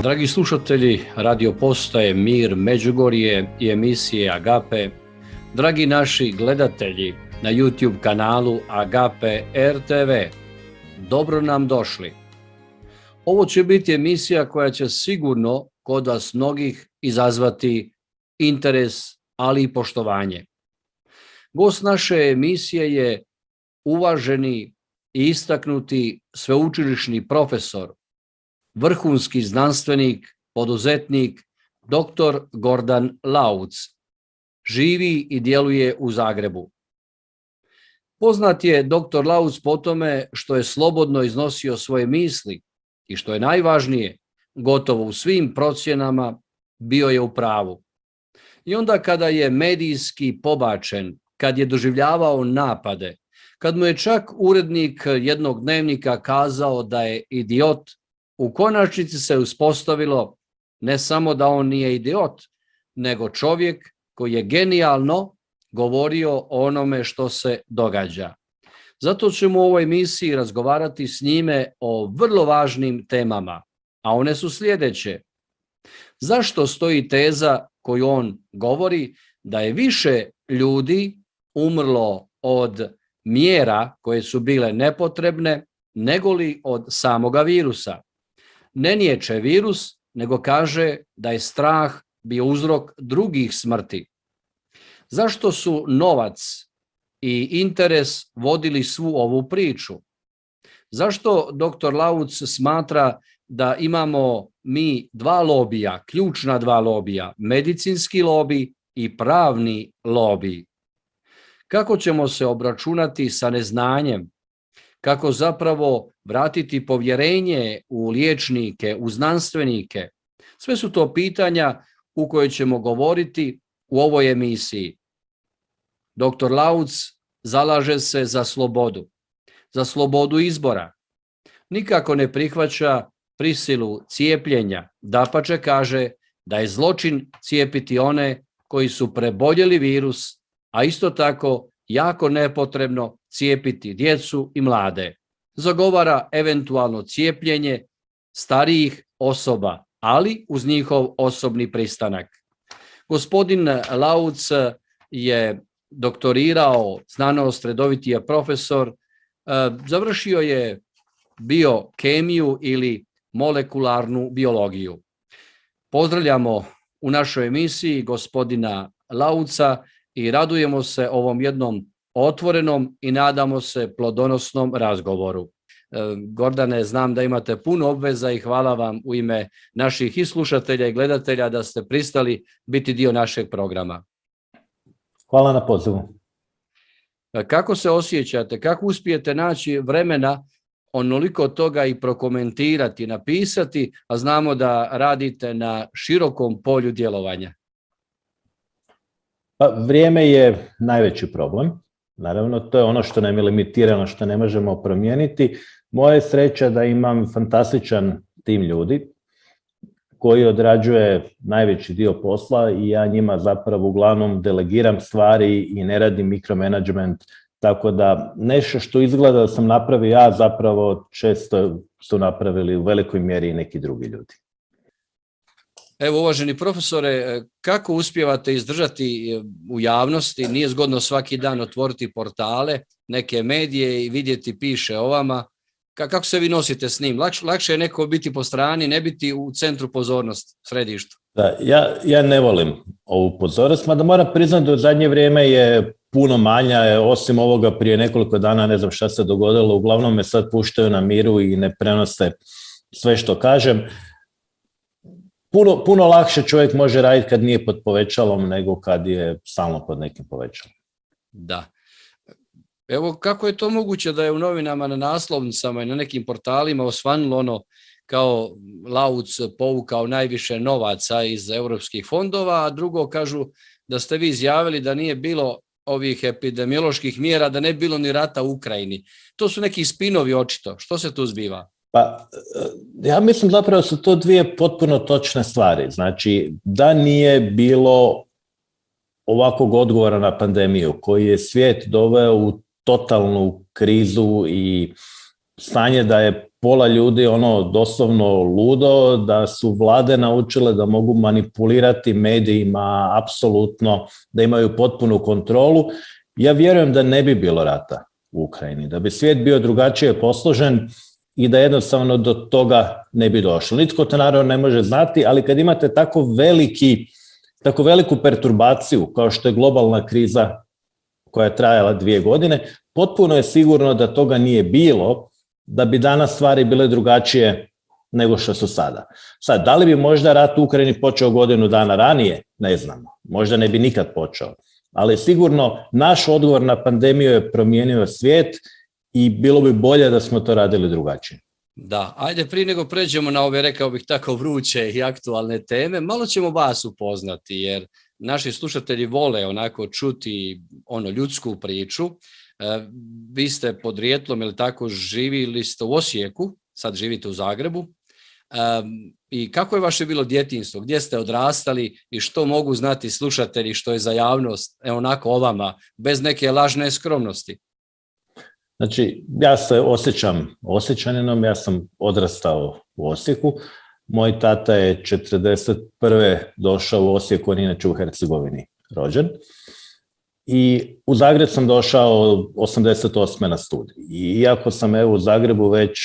Dragi slušatelji radio postaje Mir Međugorje i emisije Agape, dragi naši gledatelji na YouTube kanalu Agape RTV, dobro nam došli. Ovo će biti emisija koja će sigurno kod vas mnogih izazvati interes, ali i poštovanje. Gost naše emisije je uvaženi i istaknuti sveučilišni profesor, vrhunski znanstvenik, poduzetnik, dr. Gordan Lauc. Živi i djeluje u Zagrebu. Poznat je dr. Lauc po tome što je slobodno iznosio svoje misli i što je najvažnije, gotovo u svim procjenama bio je u pravu. I onda kada je medijski pobačen, kad je doživljavao napade, kad mu je čak urednik jednog dnevnika kazao da je idiot, u konačnici se uspostavilo ne samo da on nije idiot, nego čovjek koji je genijalno govorio o onome što se događa. Zato ćemo u ovoj emisiji razgovarati s njime o vrlo važnim temama, a one su sljedeće. Zašto stoji teza koju on govori da je više ljudi umrlo od mjera koje su bile nepotrebne negoli od samoga virusa? Ne niječe virus, nego kaže da je strah bio uzrok drugih smrti. Zašto su novac i interes vodili svu ovu priču? Zašto dr. Lauc smatra da imamo mi dva lobija, ključna dva lobija, medicinski lobi i pravni lobi? Kako ćemo se obračunati sa neznanjem? Kako zapravo vratiti povjerenje u liječnike, u znanstvenike? Sve su to pitanja u koje ćemo govoriti u ovoj emisiji. Dr. Lauc zalaže se za slobodu izbora. Nikako ne prihvaća prisilu cijepljenja. Dapače kaže da je zločin cijepiti one koji su preboljeli virus, a isto tako jako nepotrebno cijepiti djecu i mlade. Zagovara eventualno cijepljenje starijih osoba, ali uz njihov osobni pristanak. Gospodin Lauc je doktorirao znanost, redoviti je profesor, završio je biokemiju ili molekularnu biologiju. Pozdravljamo u našoj emisiji gospodina Lauca i radujemo se ovom jednom otvorenom i nadamo se plodonosnom razgovoru. Gordane, znam da imate puno obveza i hvala vam u ime naših i slušatelja i gledatelja da ste pristali biti dio našeg programa. Hvala na pozivu. Kako se osjećate? Kako uspijete naći vremena onoliko toga i prokomentirati, napisati, a znamo da radite na širokom polju djelovanja? Pa, vrijeme je najveći problem. Naravno, to je ono što nam je limitirano, što ne možemo promijeniti. Moja je sreća da imam fantastičan tim ljudi koji odrađuje najveći dio posla i ja njima zapravo uglavnom delegiram stvari i ne radim mikromanagement, tako da nešto što izgleda da sam napravio ja, zapravo često su napravili u velikoj mjeri i neki drugi ljudi. Evo, uvaženi profesore, kako uspijevate izdržati u javnosti? Nije zgodno svaki dan otvoriti portale, neke medije i vidjeti piše o vama. Kako se vi nosite s njim? Lakše je neko biti po strani, ne biti u centru pozornosti, središtu. Da, ja ne volim ovu pozornost, mada moram priznati da u zadnje vrijeme je puno manja, osim ovoga prije nekoliko dana, ne znam šta se dogodilo, uglavnom me sad puštaju na miru i ne prenose sve što kažem. Puno lakše čovjek može raditi kad nije pod povećalom nego kad je stalno pod nekim povećalom. Da. Evo, kako je to moguće da je u novinama na naslovnicama i na nekim portalima osvanulo ono kao Lauc povukao najviše novaca iz europskih fondova, a drugo kažu da ste vi izjavili da nije bilo ovih epidemioloških mjera, da ne bi bilo ni rata u Ukrajini. To su neki spinovi očito. Što se tu zbiva? Pa, ja mislim zapravo su to dvije potpuno točne stvari. Znači, da nije bilo ovakvog odgovora na pandemiju koji je svijet doveo u totalnu krizu i stanje da je pola ljudi doslovno ludo, da su vlade naučile da mogu manipulirati medijima apsolutno, da imaju potpunu kontrolu. Ja vjerujem da ne bi bilo rata u Ukrajini, da bi svijet bio drugačije posložen i da jednostavno do toga ne bi došlo. Nitko to naravno ne može znati, ali kad imate tako veliku perturbaciju kao što je globalna kriza koja je trajala 2 godine, potpuno je sigurno da toga nije bilo, da bi danas stvari bile drugačije nego što su sada. Sad, da li bi možda rat u Ukrajini počeo godinu dana ranije? Ne znamo. Možda ne bi nikad počeo. Ali sigurno naš odgovor na pandemiju je promijenio svijet i bilo bi bolje da smo to radili drugačije. Da, ajde prije nego pređemo na ove, rekao bih tako, vruće i aktualne teme, malo ćemo vas upoznati jer naši slušatelji vole onako čuti ljudsku priču. Vi ste podrijetlom ili tako živjeli ste u Osijeku, sad živite u Zagrebu. I kako je vaše bilo djetinjstvo? Gdje ste odrastali i što mogu znati slušatelji što je za javnost onako o vama, bez neke lažne skromnosti? Znači, ja se osjećam Osječaninom, ja sam odrastao u Osijeku. Moj tata je 1941. došao u Osijek, on je inače u Hercegovini rođen. I u Zagreb sam došao 88. na studij. I iako sam u Zagrebu već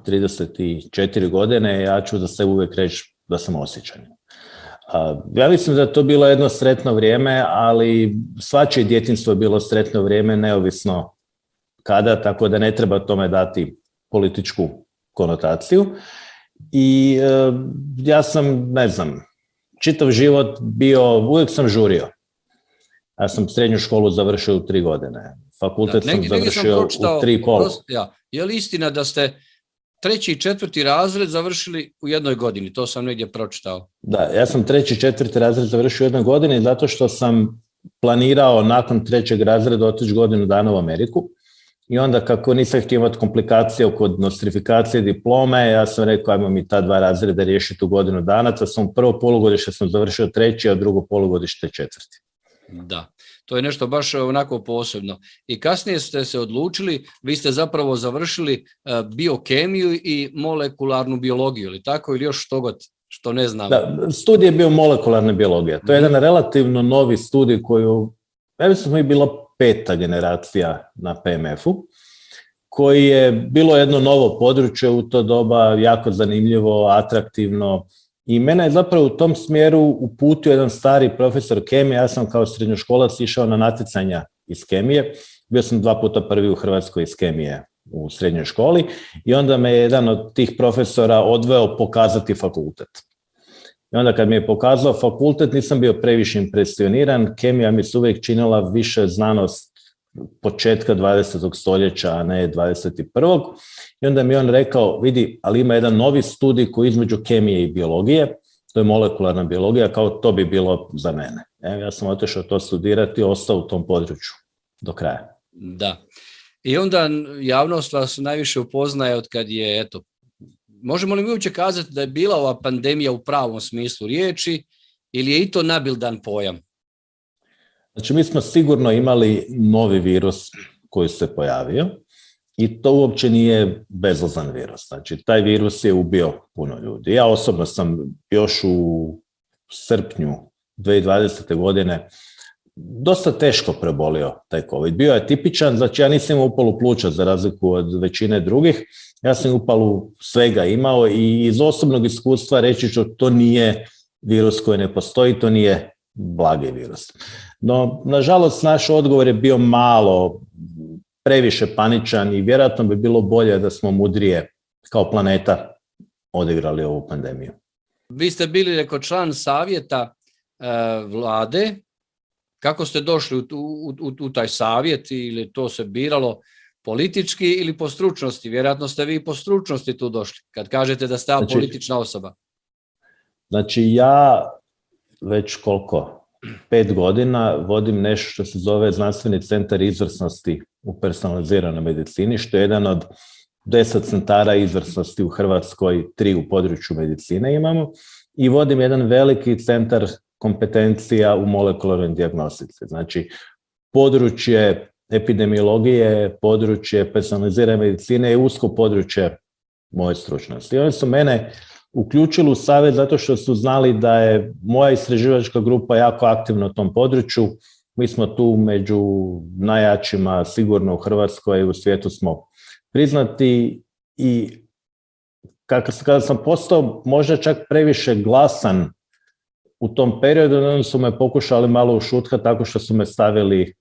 34 godine, ja ću za sebe uvijek reći da sam Osječanin. Ja mislim da je to bilo jedno sretno vrijeme, ali svačije djetinjstvo je bilo sretno vrijeme, neovisno kada, tako da ne treba tome dati političku konotaciju. I ja sam, čitav život uvijek sam žurio. Ja sam srednju školu završio u 3 godine. Fakultet sam završio u 3,5. Je li istina da ste 3. i 4. razred završili u 1 godini? To sam negdje pročitao. Da, ja sam 3. i 4. razred završio u 1 godini zato što sam planirao nakon 3. razreda otići godinu dana u Ameriku. I onda kako nisam htio imati komplikacije kod nostrifikacije diplome, ja sam rekao ajmo mi ta 2 razreda riješiti u godinu dana, to sam prvo polugodište sam završio 3, a drugo polugodište 4. Da, to je nešto baš onako posebno. I kasnije ste se odlučili, vi ste zapravo završili biokemiju i molekularnu biologiju, ili tako, ili još što ne znam? Da, studij je bio molekularna biologija. To je jedan relativno novi studij koju, ja mislim mi bilo 5. generacija na PMF-u, koji je bilo jedno novo područje u to doba, jako zanimljivo, atraktivno. I mene je zapravo u tom smjeru uputio jedan stari profesor kemije. Ja sam kao srednjoškolac išao na natjecanja iz kemije. Bio sam 2 puta prvi u Hrvatskoj iz kemije u srednjoj školi i onda me jedan od tih profesora odveo pokazati fakultet. I onda kad mi je pokazao fakultet nisam bio previše impresioniran. Kemija mi se uvijek činila više znanost početka 20. stoljeća, a ne 21. I onda mi on rekao, vidi, ali ima jedan novi studij koji između kemije i biologije, to je molekularna biologija, kao to bi bilo za mene. Ja sam otišao to studirati i ostao u tom području do kraja. Da. I onda javnost vas najviše upoznaje od kad je, možemo li mi uopće kazati da je bila ova pandemija u pravom smislu riječi ili je i to nabildan pojam? Znači, mi smo sigurno imali novi virus koji se pojavio i to uopće nije bezazlen virus. Znači, taj virus je ubio puno ljudi. Ja osobno sam još u srpnju 2020. godine dosta teško prebolio taj COVID. Bio je tipičan, znači ja nisam imao upalu pluća za razliku od većine drugih. Ja sam upalu svega imao i iz osobnog iskustva reći ću to nije virus koji ne postoji, to nije blagi virus. No, nažalost, naš odgovor je bio malo previše paničan i vjerojatno bi bilo bolje da smo mudrije kao planeta odigrali ovu pandemiju. Vi ste bili član savjeta vlade. Kako ste došli u taj savjet ili to se biralo politički ili po stručnosti? Vjerojatno ste vi po stručnosti tu došli, kad kažete da ste politična osoba. Znači ja već 5 godina vodim nešto što se zove Znanstveni centar izvrsnosti u personaliziranoj medicini, što je jedan od 10 centara izvrsnosti u Hrvatskoj, 3 u području medicine imamo, i vodim jedan veliki centar kompetencija u molekularnoj dijagnostici. Znači, područje epidemiologije, područje personalizirane medicine je usko područje moje stručnosti. I oni su mene uključili u savjet zato što su znali da je moja istraživačka grupa jako aktivna u tom području. Mi smo tu među najjačima, sigurno u Hrvatskoj i u svijetu smo priznati i kada sam postao možda čak previše glasan u tom periodu, onda su me pokušali malo ušutkati tako što su me stavili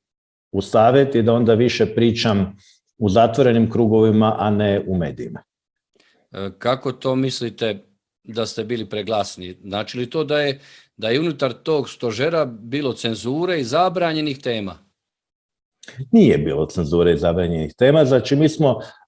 u savjet i da onda više pričam u zatvorenim krugovima, a ne u medijima. Kako to mislite da ste bili preglasni? Znači li to da je unutar tog stožera bilo cenzure i zabranjenih tema? Nije bilo cenzure i zabranjenih tema. Znači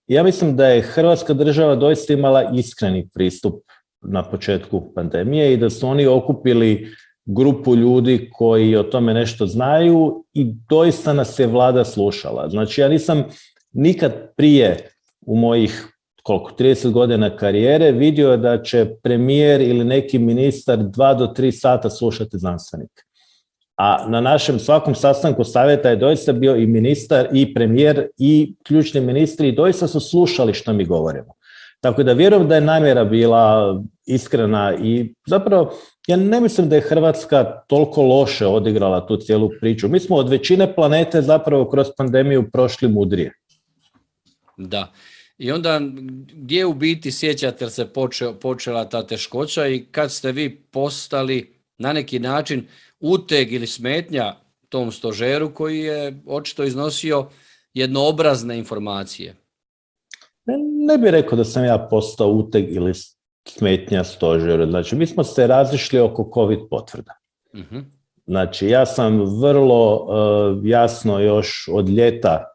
ja mislim da je Hrvatska država doista imala iskreni pristup na početku pandemije i da su oni okupili grupu ljudi koji o tome nešto znaju i doista nas je vlada slušala. Znači ja nisam nikad prije u mojih 30 godina karijere vidio da će premijer ili neki ministar 2 do 3 sata slušati znanstvenike. A na našem svakom sastanku savjeta je doista bio i ministar i premijer i ključni ministri i doista su slušali što mi govorimo. Tako da vjerujem da je namjera bila iskrena i zapravo ja ne mislim da je Hrvatska toliko loše odigrala tu cijelu priču. Mi smo od većine planete zapravo kroz pandemiju prošli mudrije. Da. I onda gdje u biti sjećate se počela ta teškoća i kad ste vi postali na neki način uteg ili smetnja tom stožeru koji je očito iznosio jednoobrazne informacije? Ne bih rekao da sam ja postao uteg ili smetnja stožeru. Znači, mi smo se razišli oko COVID potvrda. Uh-huh. Znači, ja sam vrlo jasno još od ljeta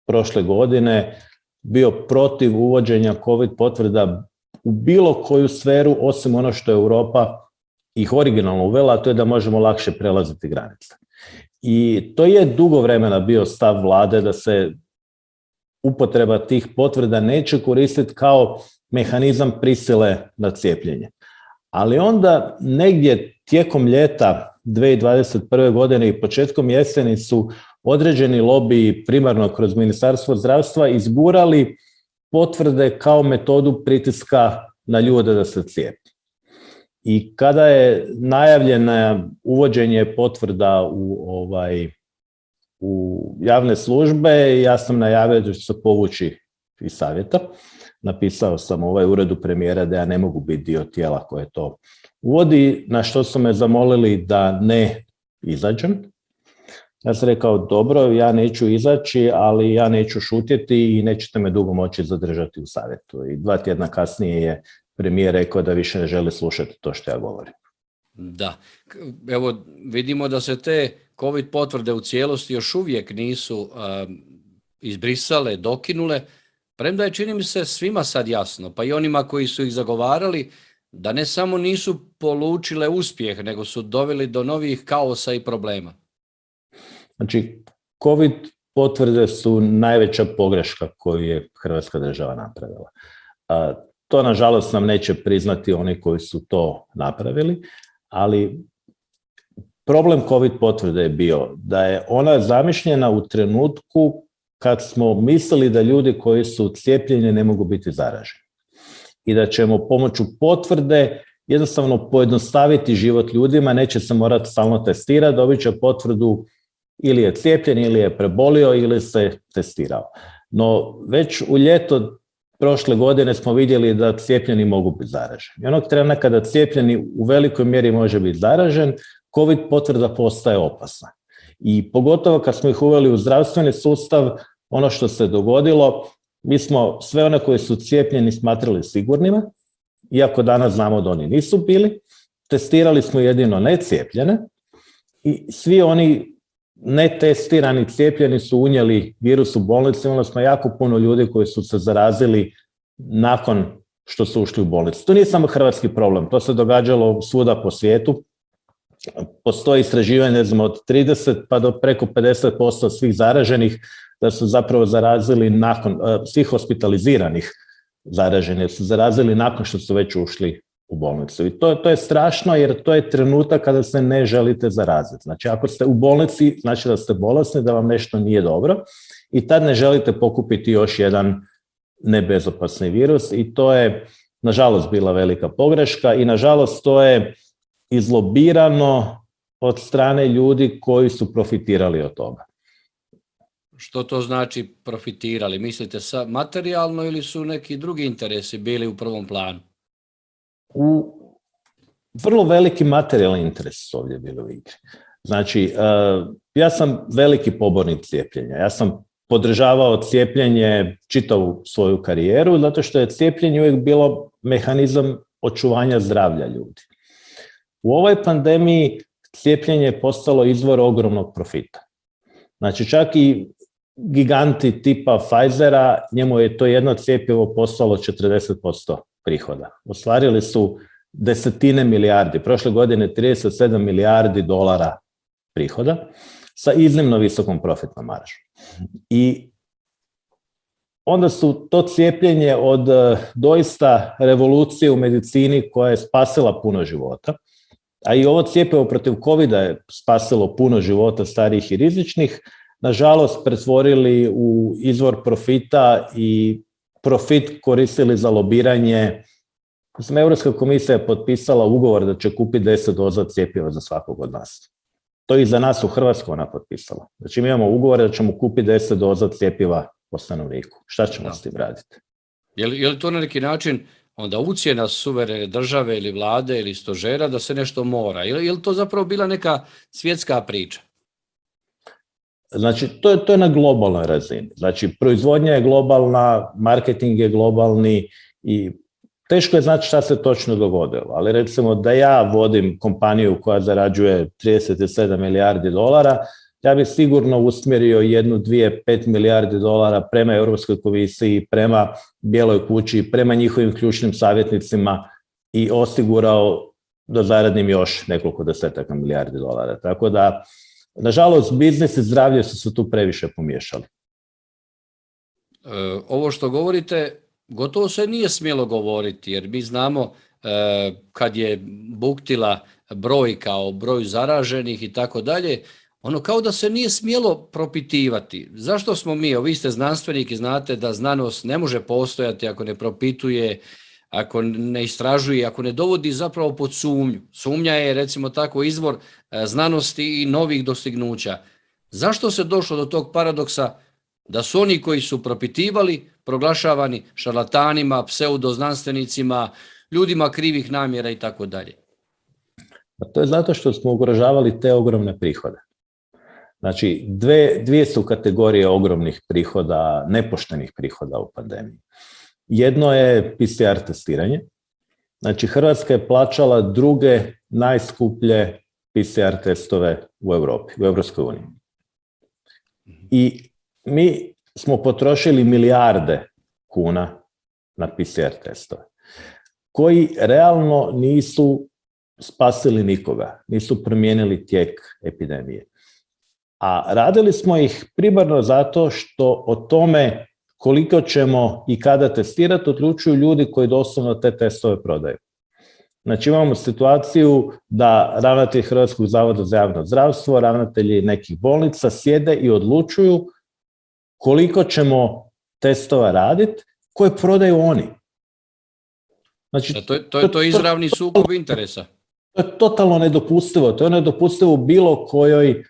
prošle godine bio protiv uvođenja COVID potvrda u bilo koju sferu, osim ono što je Europa ih originalno uvela, a to je da možemo lakše prelaziti granice. I to je dugo vremena bio stav vlade da se upotreba tih potvrda neće koristiti kao mehanizam prisile na cijepljenje. Ali onda negdje tijekom ljeta 2021. godine i početkom jeseni su određeni lobiji, primarno kroz Ministarstvo zdravstva, izgurali potvrde kao metodu pritiska na ljude da se cijepe. I kada je najavljeno uvođenje potvrda u javne službe, ja sam najavio da ću se povući iz savjeta. Napisao sam uredu premijera da ja ne mogu biti dio tijela koje to uvodi, na što su me zamolili da ne izađem. Ja sam rekao, dobro, ja neću izaći, ali ja neću šutjeti i nećete me dugo moći zadržati u savjetu. I 2 tjedna kasnije je premijer rekao da više ne želi slušati to što ja govorim. Da, evo vidimo da se te COVID potvrde u cijelosti još uvijek nisu izbrisale, dokinule, premda je, čini mi se, svima sad jasno, pa i onima koji su ih zagovarali, da ne samo nisu polučile uspjeh, nego su doveli do novih kaosa i problema. Znači, COVID potvrde su najveća pogreška koju je Hrvatska država napravila. To, nažalost, nam neće priznati oni koji su to napravili, ali problem COVID potvrde je bio da je ona zamišljena u trenutku kad smo mislili da ljudi koji su cijepljeni ne mogu biti zaraženi. I da ćemo pomoću potvrde jednostavno pojednostaviti život ljudima, neće se morati stalno testirati, dobit će potvrdu ili je cijepljen, ili je prebolio, ili se testirao. No, već u ljeto prošle godine smo vidjeli da cijepljeni mogu biti zaraženi. I onog trena kada cijepljeni u velikoj mjeri može biti zaražen, COVID potvrda postaje opasna. I pogotovo kad smo ih uveli u zdravstveni sustav, ono što se dogodilo, mi smo sve one koji su cijepljeni smatrali sigurnima, iako danas znamo da oni nisu bili. Testirali smo jedino necijepljene i svi oni netestirani cijepljeni su unijeli virus u bolnicu. Imali smo jako puno ljudi koji su se zarazili nakon što su ušli u bolnicu. To nije samo hrvatski problem, to se događalo svuda po svijetu. Postoji istraživanje, od 30 pa do preko 50% svih zaraženih da su zapravo zarazili nakon, svih hospitaliziranih zaraženih su zarazili nakon što su već ušli u bolnicu. I to je strašno jer to je trenutak kada se ne želite zaraziti. Znači, ako ste u bolnici, znači da ste bolesni, da vam nešto nije dobro i tad ne želite pokupiti još jedan nebezopasni virus i to je, nažalost, bila velika pogreška i, nažalost, to je izlobirano od strane ljudi koji su profitirali od toga. Što to znači profitirali? Mislite materijalno ili su neki drugi interesi bili u prvom planu? Vrlo veliki materijalni interes su ovdje bili u igri. Znači, ja sam veliki pobornik cijepljenja. Ja sam podržavao cijepljenje čitavu svoju karijeru, zato što je cijepljenje uvijek bilo mehanizam očuvanja zdravlja ljudi. U ovoj pandemiji cijepljenje je postalo izvor ogromnog profita. Znači, čak i giganti tipa Pfizera, njemu je to jedno cjepivo postalo 40% prihoda. Ostvarili su desetine milijardi, prošle godine 37 milijardi dolara prihoda sa iznimno visokom profitnom maržom. I onda su to cijepljenje od doista revolucije u medicini koja je spasila puno života, a i ovo cjepivo protiv covida je spasilo puno života starijih i rizičnih, nažalost pretvorili u izvor profita i profit koristili za lobiranje. Europska komisija je potpisala ugovor da će kupiti 10 doza cjepiva za svakog od nas. To i za nas u Hrvatskoj ona potpisala. Znači mi imamo ugovor da ćemo kupiti 10 doza cjepiva po stanovniku. Šta ćemo s tim raditi? Je li to na neki način onda ucjena suverene države ili vlade ili stožera da se nešto mora? Je li to zapravo bila neka svjetska priča? Znači, to je na globalnoj razini. Znači, proizvodnja je globalna, marketing je globalni i teško je znati šta se točno dogodilo. Ali recimo da ja vodim kompaniju koja zarađuje 37 milijardi dolara, ja bih sigurno usmjerio 1, 2, 5 milijardi dolara prema Europskoj komisiji, prema Bijeloj kući, prema njihovim ključnim savjetnicima i osigurao da zaradim još nekoliko desetaka milijardi dolara. Tako da, nažalost, biznis i zdravlje su se tu previše pomiješali. Ovo što govorite, gotovo se nije smjelo govoriti, jer mi znamo kad je buktila brojka o broju zaraženih i tako dalje, ono kao da se nije smjelo propitivati. Zašto smo mi, vi ste znanstvenik i znate da znanost ne može postojati ako ne propituje, ako ne istražuje, ako ne dovodi zapravo pod sumnju. Sumnja je, recimo tako, izvor znanosti i novih dostignuća. Zašto se došlo do tog paradoksa da su oni koji su propitivali proglašavani šarlatanima, pseudoznanstvenicima, ljudima krivih namjera i tako dalje? To je zato što smo ugrožavali te ogromne prihode. Znači, dvije su kategorije ogromnih prihoda, nepoštenih prihoda u pandemiji. Jedno je PCR testiranje. Znači, Hrvatska je plaćala druge najskuplje PCR testove u Europi, u Europskoj uniji. I mi smo potrošili milijarde kuna na PCR testove, koji realno nisu spasili nikoga, nisu promijenili tijek epidemije. A radili smo ih primarno zato što o tome koliko ćemo i kada testirati odlučuju ljudi koji doslovno te testove prodaju. Znači imamo situaciju da ravnatelji Hrvatskog zavoda za javno zdravstvo, ravnatelji nekih bolnica sjede i odlučuju koliko ćemo testova raditi koje prodaju oni. Znači, to je izravni sukob interesa. To je totalno nedopustivo. To je nedopustivo u bilo kojoj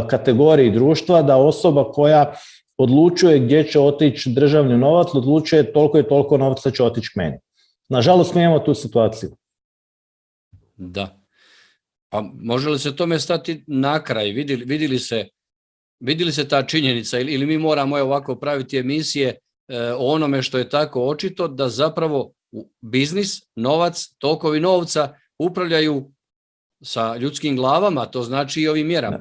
kategoriji društva da osoba koja odlučuje gdje će otići državni novac, odlučuje toliko i toliko novca će otići k meni. Nažalost, mi imamo tu situaciju. Da. Pa može li se tome stati na kraj? Vidjeli se ta činjenica ili mi moramo ovako praviti emisije o onome što je tako očito da zapravo biznis, novac, tokovi novca upravljaju sa ljudskim glavama, to znači i ovim mjerama.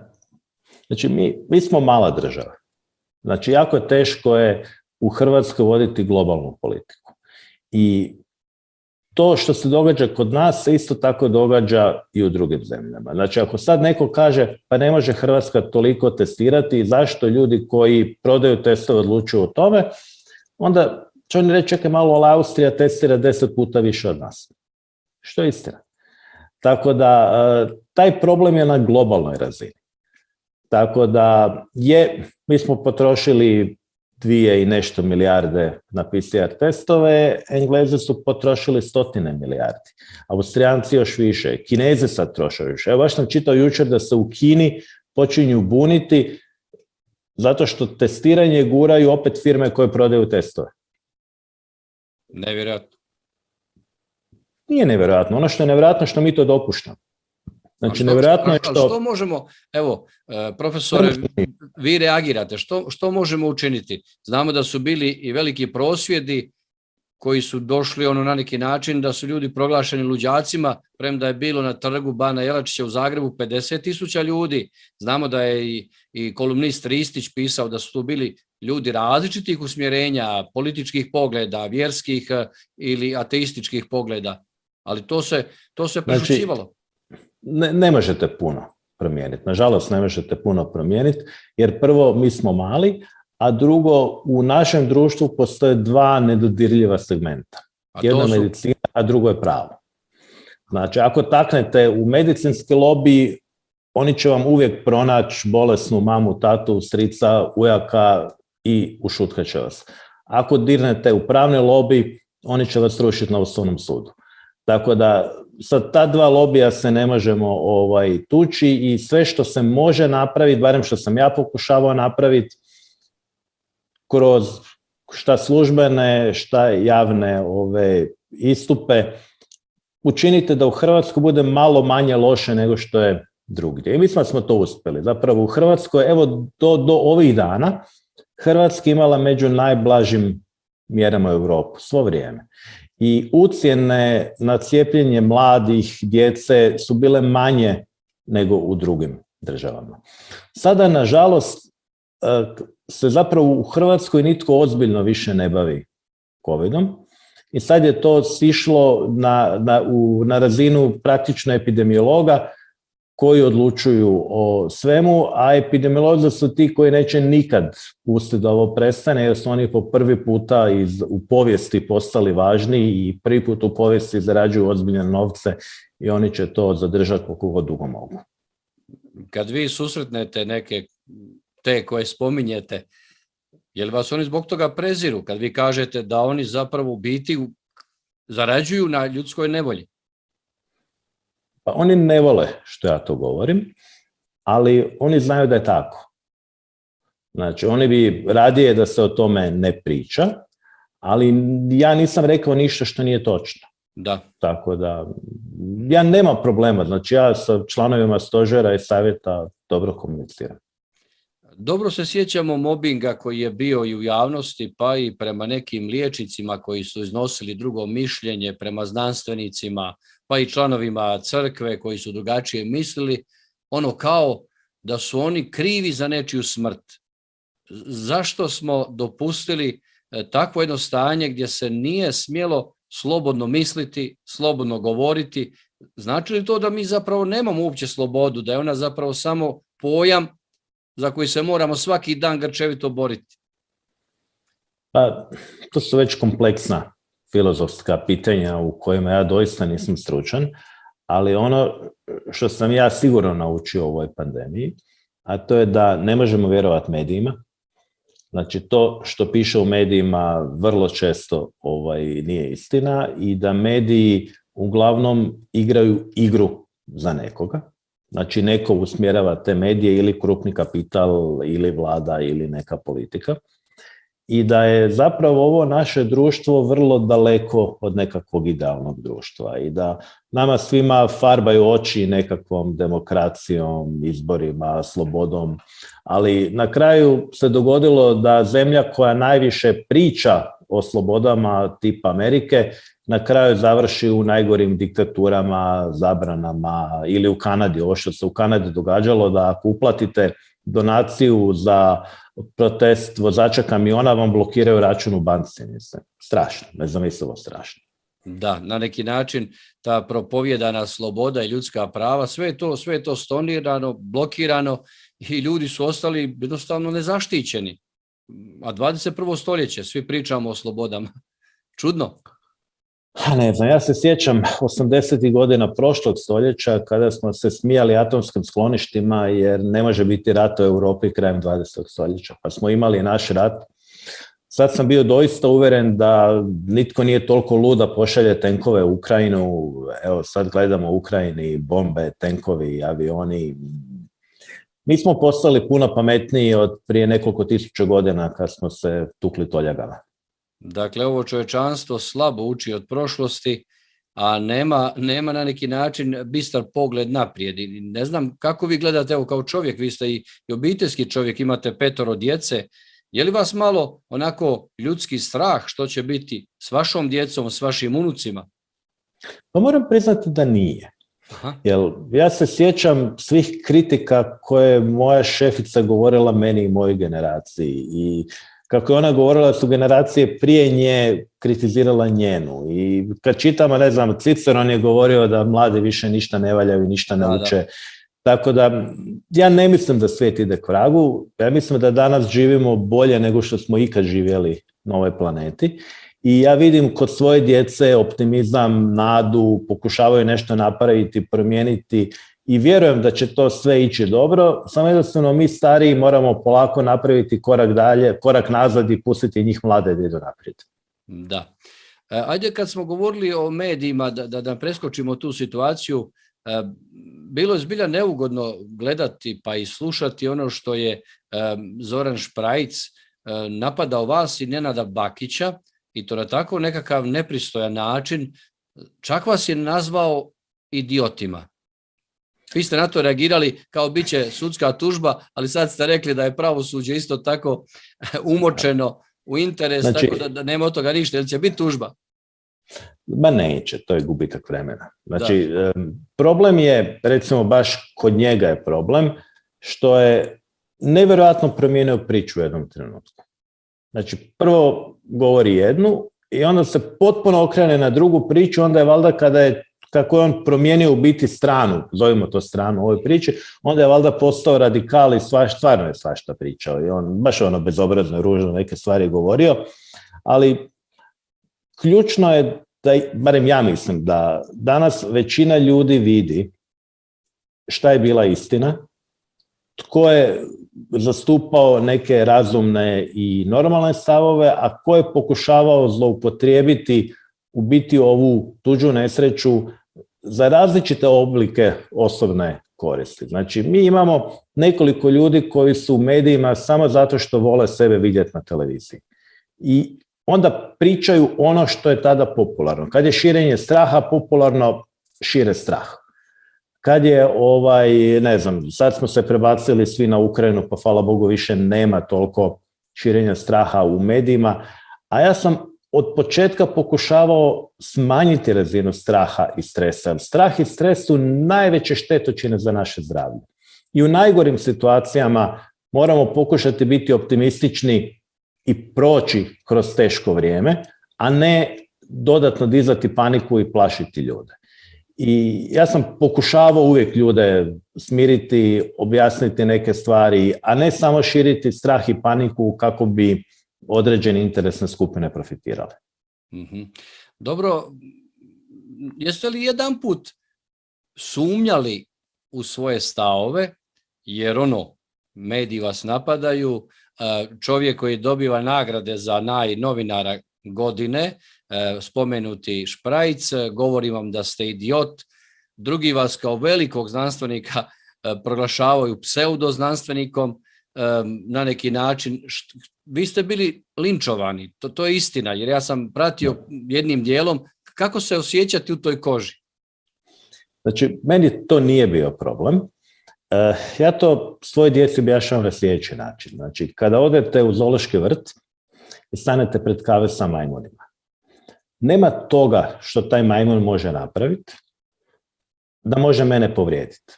Znači mi smo mala država. Znači jako je teško u Hrvatskoj voditi globalnu politiku. I to što se događa kod nas se isto tako događa i u drugim zemljama. Znači ako sad neko kaže pa ne može Hrvatska toliko testirati, zašto ljudi koji prodaju testove odlučuju o tome, onda će oni reći čekaj malo, ali Austrija testira 10 puta više od nas. što je istina. Tako da taj problem je na globalnoj razini. Tako da mi smo potrošili 2 i nešto milijarde na PCR testove, Englezi su potrošili 100 milijardi, Austrijanci još više, Kinezi sad troše više. Evo baš sam čitao jučer da se u Kini počinju buniti zato što testiranje guraju opet firme koje prodaju testove. Nevjerojatno. Nije nevjerojatno. Ono što je nevjerojatno što mi to dopuštamo. Znači, nevjerojatno je što možemo, evo, profesore, vi reagirate, što možemo učiniti? Znamo da su bili i veliki prosvjedi koji su došli na neki način da su ljudi proglašeni luđacima, premda je bilo na trgu Bana Jelačića u Zagrebu 50.000 ljudi. Znamo da je i kolumnist Ristić pisao da su tu bili ljudi različitih usmjerenja, političkih pogleda, vjerskih ili ateističkih pogleda, ali to se prešućivalo. Ne možete puno promijeniti. Nažalost, ne možete puno promijeniti, jer prvo, mi smo mali, a drugo, u našem društvu postoje 2 nedodirljiva segmenta. Jedno je medicina, a drugo je pravo. Znači, ako taknete u medicinski lobby, oni će vam uvijek pronaći bolesnu mamu, tatu, strica, ujaka i ušutkat će vas. Ako dirnete u pravni lobby, oni će vas rušiti na Ustavnom sudu. Tako da sa ta 2 lobija se ne možemo tući i sve što se može napraviti, barem što sam ja pokušavao napraviti, kroz šta službene, šta javne istupe, učinite da u Hrvatskoj bude malo manje loše nego što je drugdje. I mislim da smo to uspjeli. Zapravo u Hrvatskoj, evo do ovih dana, Hrvatska imala među najblažim mjerama u Europu svo vrijeme. I ucjene na cijepljenje mladih, djece su bile manje nego u drugim državama. Sada, nažalost, se zapravo u Hrvatskoj nitko ozbiljno više ne bavi covidom i sad je to sišlo na razinu praktično epidemiologa koji odlučuju o svemu, a epidemiolozi su ti koji neće nikad pustiti da ovo prestane, jer su oni po prvi puta u povijesti postali važni i prvi put u povijesti zarađuju ozbiljne novce i oni će to zadržati koliko dugo mogu. Kad vi susretnete neke te koje spominjete, je li vas oni zbog toga preziru kad vi kažete da oni zapravo u biti zarađuju na ljudskoj nevolji? Pa oni ne vole što ja to govorim, ali oni znaju da je tako. Znači, oni bi radije da se o tome ne priča, ali ja nisam rekao ništa što nije točno. Da. Tako da, ja nemam problema. Znači, ja sa članovima stožera i savjeta dobro komuniciram. Dobro se sjećamo mobinga koji je bio i u javnosti, pa i prema nekim liječnicima koji su iznosili drugo mišljenje, prema znanstvenicima, pa i članovima crkve koji su drugačije mislili, kao da su oni krivi za nečiju smrt. Zašto smo dopustili takvo jedno stanje gdje se nije smjelo slobodno misliti, slobodno govoriti? Znači li to da mi zapravo nemamo uopće slobodu, da je ona zapravo samo pojam za koji se moramo svaki dan grčevito boriti? Pa, to su već kompleksna filozofska pitanja u kojima ja doista nisam stručan, ali ono što sam ja sigurno naučio u ovoj pandemiji, a to je da ne možemo vjerovati medijima. Znači, to što piše u medijima vrlo često nije istina i da mediji uglavnom igraju igru za nekoga. Znači, neko usmjerava te medije ili krupni kapital ili vlada ili neka politika. I da je zapravo ovo naše društvo vrlo daleko od nekakvog idealnog društva i da nama svima farbaju oči nekakvom demokracijom, izborima, slobodom, ali na kraju se dogodilo da zemlja koja najviše priča o slobodama tipa Amerike na kraju završi u najgorim diktaturama, zabranama ili u Kanadi. Ovo što se u Kanadi događalo, da ako uplatite donaciju za protest vozača kamiona, vam blokiraju račun u banci. Strašno, nezamislivo strašno. Da, na neki način ta propovjedana sloboda i ljudska prava, sve je to stonirano, blokirano i ljudi su ostali jednostavno nezaštićeni. A 21. stoljeće, svi pričamo o slobodama. Čudno. Ne znam, ja se sjećam 80. godina prošlog stoljeća kada smo se smijali atomskim skloništima jer ne može biti rat u Europi krajem 20. stoljeća, pa smo imali naš rat. Sad sam bio doista uveren da nitko nije toliko lud da pošalje tenkove u Ukrajinu. Evo sad gledamo u Ukrajini bombe, tenkovi, avioni. Mi smo postali puno pametniji od prije nekoliko tisuća godina kad smo se tukli toljagama. Dakle, ovo čovječanstvo slabo uči od prošlosti, a nema na neki način bistar pogled naprijed. I ne znam kako vi gledate, evo kao čovjek, vi ste i obiteljski čovjek, imate 5 djece. Je li vas malo onako ljudski strah što će biti s vašom djecom, s vašim unucima? Pa moram priznati da nije. Aha. Jer ja se sjećam svih kritika koje je moja šefica govorila meni i mojoj generaciji i kako je ona govorila su generacije prije nje kritizirala njenu. I kad čitamo, ne znam, Ciceron je govorio da mladi više ništa ne valjaju i ništa ne uče. Da. Tako da ja ne mislim da svijet ide k vragu, ja mislim da danas živimo bolje nego što smo ikad živjeli na ovoj planeti i ja vidim kod svoje djece optimizam, nadu, pokušavaju nešto napraviti, promijeniti i vjerujem da će to sve ići dobro, samo jednostavno mi stariji moramo polako napraviti korak dalje, korak nazad i pustiti njih mlade da idu naprijed. Da. Ajde kad smo govorili o medijima, da preskočimo tu situaciju, bilo je zbilja neugodno gledati pa i slušati ono što je Zoran Šprajc napadao vas i Nenada Bakića i to na tako nekakav nepristojan način, čak vas je nazvao idiotima. Vi ste na to reagirali kao bit će sudska tužba, ali sad ste rekli da je pravosuđe isto tako umočeno u interes, znači, tako da nema od toga ništa, jer će biti tužba. Ma neće, to je gubitak vremena. Znači, problem je, recimo baš kod njega je problem, što je nevjerojatno promijenio priču u jednom trenutku. Znači, prvo govori jednu i onda se potpuno okrene na drugu priču, onda je valjda kako je on promijenio u biti stranu, zovimo to stranu u ovoj priči, onda je valjda postao radikal i stvarno je svašta pričao i on baš bezobrazno, ružno neke stvari govorio, ali ključno je da, barem ja mislim, da danas većina ljudi vidi šta je bila istina, tko je zastupao neke razumne i normalne stavove, a ko je pokušavao zloupotrijebiti u biti ovu tuđu nesreću za različite oblike osobne koristi. Znači, mi imamo nekoliko ljudi koji su u medijima samo zato što vole sebe vidjeti na televiziji. I onda pričaju ono što je tada popularno. Kad je širenje straha popularno, šire strah. Kad je, ne znam, sad smo se prebacili svi na Ukrajinu, pa hvala Bogu više nema toliko širenja straha u medijima, a ja sam od početka pokušavao smanjiti razinu straha i stresa. Strah i stres su najveće štetočine za naše zdravlje. I u najgorim situacijama moramo pokušati biti optimistični i proći kroz teško vrijeme, a ne dodatno dizati paniku i plašiti ljude. I ja sam pokušavao uvijek ljude smiriti, objasniti neke stvari, a ne samo širiti strah i paniku kako bi određene interesne skupine profitirale. Mm-hmm. Dobro, jeste li jedanput sumnjali u svoje stavove, jer mediji vas napadaju, čovjek koji dobiva nagrade za najnovinara godine, spomenuti Šprajc, govori vam da ste idiot, drugi vas kao velikog znanstvenika proglašavaju pseudoznanstvenikom, na neki način, vi ste bili linčovani, to je istina, jer ja sam pratio jednim dijelom, kako se osjećati u toj koži? Znači, meni to nije bio problem. Ja to svoje djeci objašnjavam na sljedeći način. Znači, kada odete u zoološki vrt i stanete pred kave sa majmunima, nema toga što taj majmun može napraviti da može mene povrijediti.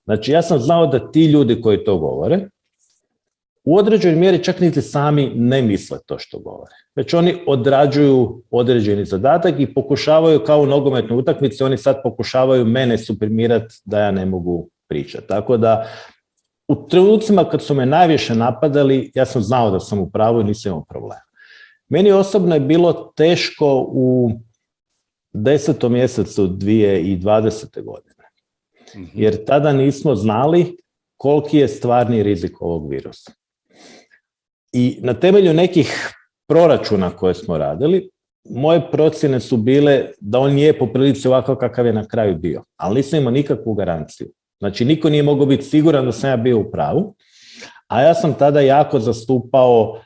Znači, ja sam znao da ti ljudi koji to govore, u određenoj mjeri čak niti sami ne misle to što govore. Već oni odrađuju određeni zadatak i pokušavaju kao u nogometnoj utakmici, oni sad pokušavaju mene suprimirati da ja ne mogu pričati. Tako da, u trenucima kad su me najviše napadali, ja sam znao da sam u pravu i nisam imao problema. Meni osobno je bilo teško u 10. mjesecu 2020. godine, jer tada nismo znali koliki je stvarni rizik ovog virusa. I na temelju nekih proračuna koje smo radili, moje procjene su bile da on je po prilici ovako kakav je na kraju bio, ali nisam imao nikakvu garanciju. Znači, niko nije mogao biti siguran da sam ja bio u pravu, a ja sam tada jako zastupao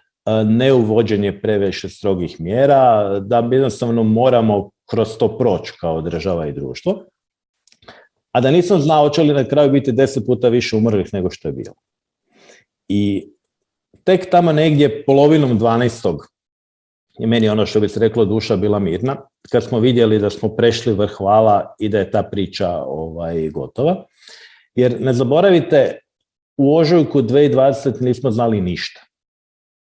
neuvođenje previše strogih mjera, da jednostavno moramo kroz to proći kao država i društvo, a da nisam znao hoće li na kraju biti 10 puta više umrlih nego što je bilo. I tek tamo negdje polovinom 12. je meni ono što bi se reklo duša bila mirna, kad smo vidjeli da smo prešli vrh vala i da je ta priča gotova. Jer ne zaboravite, u ožujku 2020 nismo znali ništa.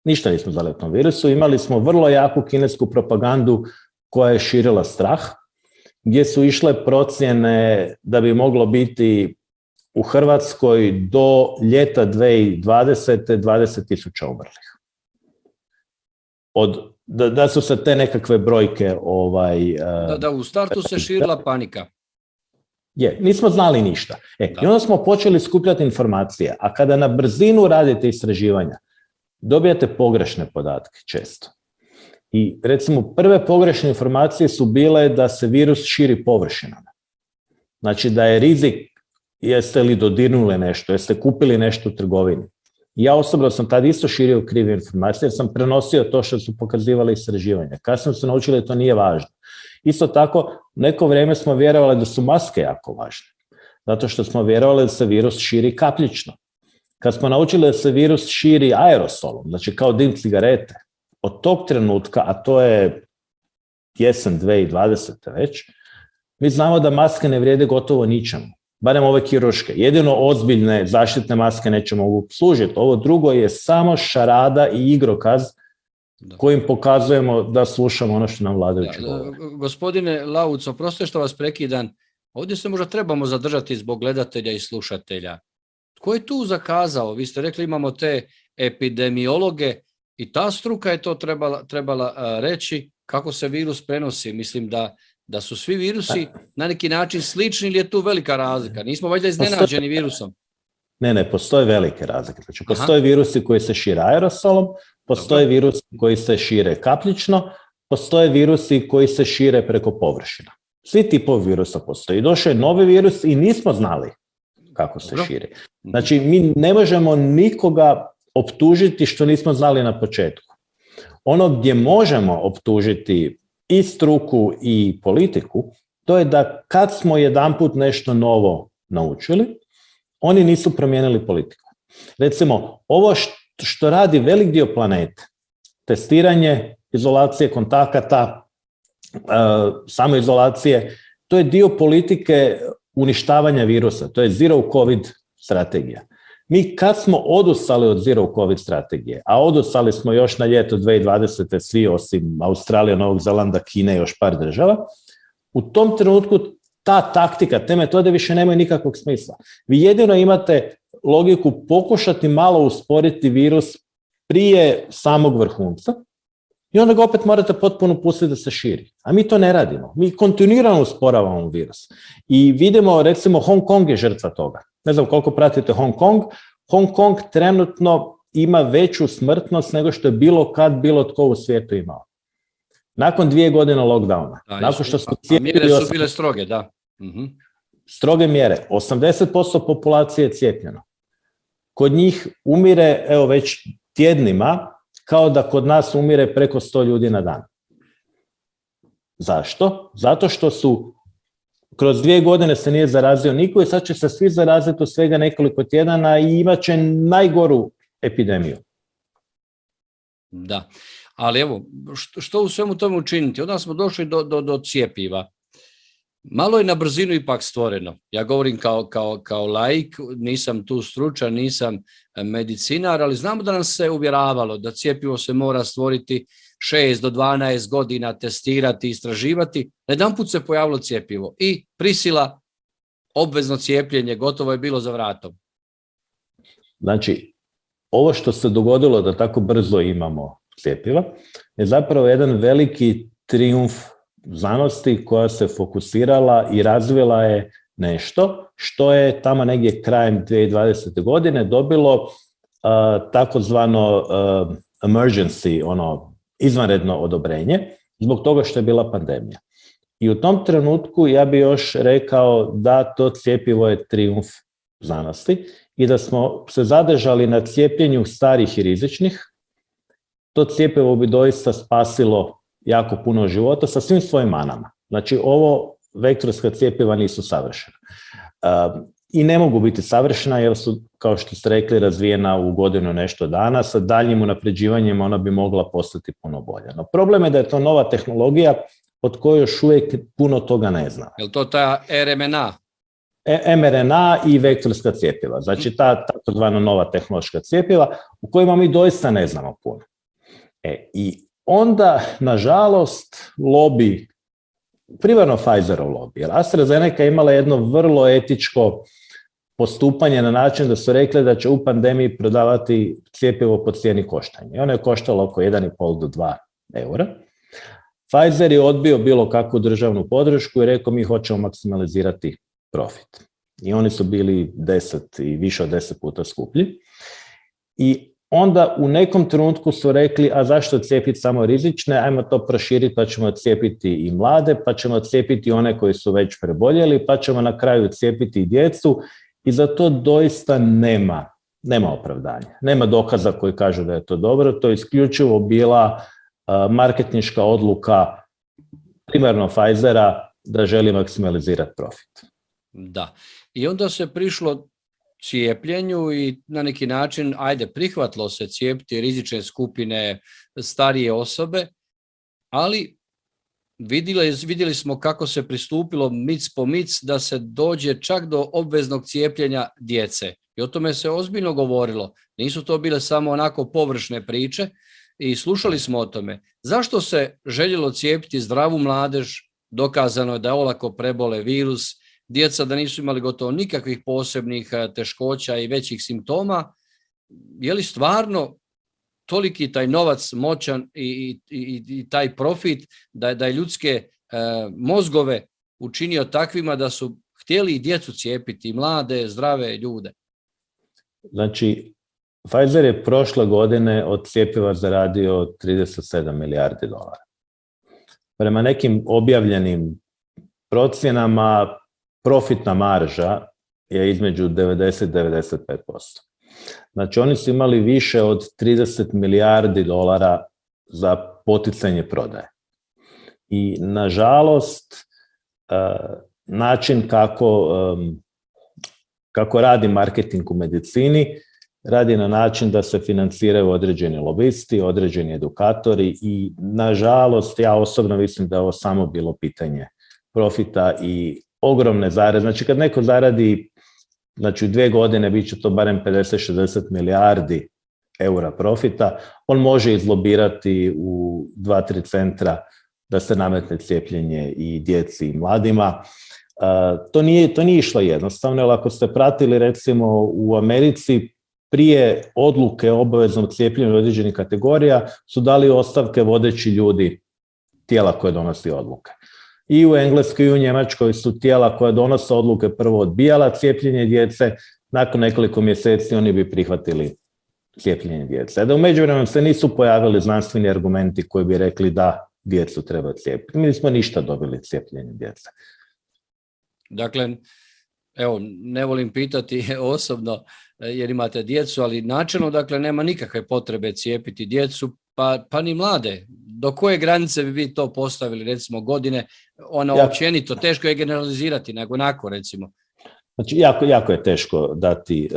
Ništa nismo znali o tom virusu. Imali smo vrlo jaku kinesku propagandu koja je širila strah, gdje su išle procjene da bi moglo biti u Hrvatskoj do ljeta 2020. 20.000 umrlih. Da su se te nekakve brojke... Da, u startu se širila panika. Nismo znali ništa. I onda smo počeli skupljati informacije, a kada na brzinu radite istraživanja, dobijate pogrešne podatke često. I recimo prve pogrešne informacije su bile da se virus širi površinama. Znači da je rizik, jeste li dodirnuli nešto, jeste kupili nešto u trgovini. Ja osobno sam tad isto širio krive informacije jer sam prenosio to što su pokazivali istraživanja. Kasnije su naučili da to nije važno. Isto tako, neko vrijeme smo vjerovali da su maske jako važne, zato što smo vjerovali da se virus širi kapljično. Kad smo naučili da se virus širi aerosolom, znači kao dim cigarete, od tog trenutka, a to je jesen 2020. već, mi znamo da maske ne vrijede gotovo ničemu, barem ove kirurške. Jedino ozbiljne zaštitne maske neće mogu služiti. Ovo drugo je samo šarada i igrokaz kojim pokazujemo da slušamo ono što nam vladajući govore. Gospodine Lauc, oprostite što vas prekidam, ovdje se možda trebamo zadržati zbog gledatelja i slušatelja. Tko je tu zakazao? Vi ste rekli imamo te epidemiologe i ta struka je to trebala reći kako se virus prenosi. Mislim da su svi virusi na neki način slični ili je tu velika razlika? Nismo valjda iznenađeni virusom? Ne, postoje velike razlike. Znači, postoje virusi koji se šire aerosolom, postoje virusi koji se šire kapljično, postoje virusi koji se šire preko površina. Svi tipovi virusa postoji. Došao je novi virus i nismo znali kako se širi. Znači, mi ne možemo nikoga optužiti što nismo znali na početku. Ono gdje možemo optužiti i struku i politiku, to je da kad smo jedanput nešto novo naučili, oni nisu promijenili politiku. Recimo, ovo što radi velik dio planete, testiranje, izolacije kontakata, samoizolacije, to je dio politike uništavanja virusa, to je zero covid strategija. Mi kad smo odustali od zero covid strategije, a odustali smo još na ljeto 2020. svi osim Australije, Novog Zelanda, Kine i još par država, u tom trenutku ta taktika, te metode više nemaju nikakvog smisla. Vi jedino imate logiku pokušati malo usporiti virus prije samog vrhunca i onda ga opet morate potpuno pustiti da se širi. A mi to ne radimo. Mi kontinuirano usporavamo virus. I vidimo, recimo, Hong Kong je žrtva toga. Ne znam koliko pratite Hong Kong. Hong Kong trenutno ima veću smrtnost nego što je bilo tko u svijetu imao. Nakon 2 godine lockdowna. Nakon što su mjere su bile stroge, da. Stroge mjere. 80% populacije je cijepljeno. Kod njih umire, evo već tjednima, kao da kod nas umire preko 100 ljudi na dan. Zašto? Zato što su kroz 2 godine se nije zarazio niko i sad će se svi zaraziti u svega nekoliko tjedana i imat će najgoru epidemiju. Da, ali evo, što u svemu tome učiniti? Onda smo došli do cjepiva. Malo je na brzinu ipak stvoreno. Ja govorim kao laik, nisam tu stručan, nisam medicinar, ali znamo da nam se uvjeravalo da cjepivo se mora stvoriti 6 do 12 godina, testirati, istraživati. Jedanput se pojavilo cjepivo i prisila, obvezno cijepljenje, gotovo je bilo za vratom. Znači, ovo što se dogodilo da tako brzo imamo cjepiva je zapravo jedan veliki trijumf znanosti koja se fokusirala i razvila je nešto što je tamo negdje krajem 2020. godine dobilo takozvano emergency, izvanredno odobrenje, zbog toga što je bila pandemija. I u tom trenutku ja bi još rekao da to cjepivo je trijumf znanosti i da smo se zadržali na cijepljenju starih i rizičnih, to cjepivo bi doista spasilo jako puno života sa svim svojim manama. Znači, ovo vektorska cjepiva nisu savršena. I ne mogu biti savršena jer su, kao što ste rekli, razvijena u godinu nešto dana. Sa daljnjim unapređivanjem ona bi mogla postati puno bolja. No, problem je da je to nova tehnologija od koje još uvijek puno toga ne zna. Je li to ta RMNA? mRNA i vektorska cjepiva. Znači, ta takozvana nova tehnološka cjepiva u kojima mi doista ne znamo puno. I onda, nažalost, lobby, primarno Pfizerov lobby, jer AstraZeneca imala jedno vrlo etičko postupanje na način da su rekli da će u pandemiji prodavati cjepivo po cijeni koštanja. I ono je koštalo oko 1,5 do 2 eura. Pfizer je odbio bilo kakvu državnu podršku i rekao mi hoćemo maksimalizirati profit. I oni su bili 10 i više od 10 puta skuplji. I onda u nekom trenutku su rekli, a zašto cijepiti samo rizične, ajmo to proširiti pa ćemo cijepiti i mlade, pa ćemo cijepiti one koji su već preboljeli, pa ćemo na kraju cijepiti i djecu i za to doista nema opravdanja. Nema dokaza koji kažu da je to dobro, to je isključivo bila marketinška odluka primarno Pfizera da želi maksimalizirati profit. Da, i onda se prišlo cijepljenju i na neki način, prihvatilo se cijepiti rizične skupine, starije osobe, ali vidjeli smo kako se pristupilo mic po mic da se dođe čak do obveznog cijepljenja djece. I o tome se ozbiljno govorilo. Nisu to bile samo onako površne priče i slušali smo o tome. Zašto se željelo cijepiti zdravu mladež? Dokazano je da olako prebole virus, djeca da nisu imali gotovo nikakvih posebnih teškoća i većih simptoma. Je li stvarno toliki taj novac moćan i taj profit da je ljudske mozgove učinio takvima da su htjeli i djecu cijepiti, mlade, zdrave ljude? Znači, Pfizer je prošle godine od cjepiva zaradio 37 milijardi dolara. Prema nekim objavljenim procjenama, profitna marža je između 90 i 95%. Znači, oni su imali više od 30 milijardi dolara za poticanje prodaje. I, nažalost, način kako radi marketing u medicini, radi na način da se financiraju određeni lobisti, određeni edukatori i, nažalost, ja osobno mislim da je ovo samo bilo pitanje profita i ogromne zarade. Znači, kad neko zaradi, znači u 2 godine bit će to barem 50-60 milijardi eura profita, on može izlobirati u 2-3 centra da se nametne cijepljenje i djeci i mladima. To nije išlo jednostavno, jer ako ste pratili recimo u Americi, prije odluke o obaveznom cijepljenju određenih kategorija su dali ostavke vodeći ljudi tijela koje donosi odluke. I u Engleskoj i u Njemačkoj su tijela koja donose odluke prvo odbijala cijepljenje djece, nakon nekoliko mjeseci oni bi prihvatili cijepljenje djece. Da u međuvremenu se nisu pojavili znanstveni argumenti koji bi rekli da djecu treba cijepiti. Mi nismo ništa dobili cijepljenje djece. Dakle, evo, ne volim pitati osobno jer imate djecu, ali načelno, dakle, nema nikakve potrebe cijepiti djecu, pa ni mlade. Do koje granice bi vi to postavili, recimo godine, općenito, teško je generalizirati, nego onako, recimo? Znači, jako je teško dati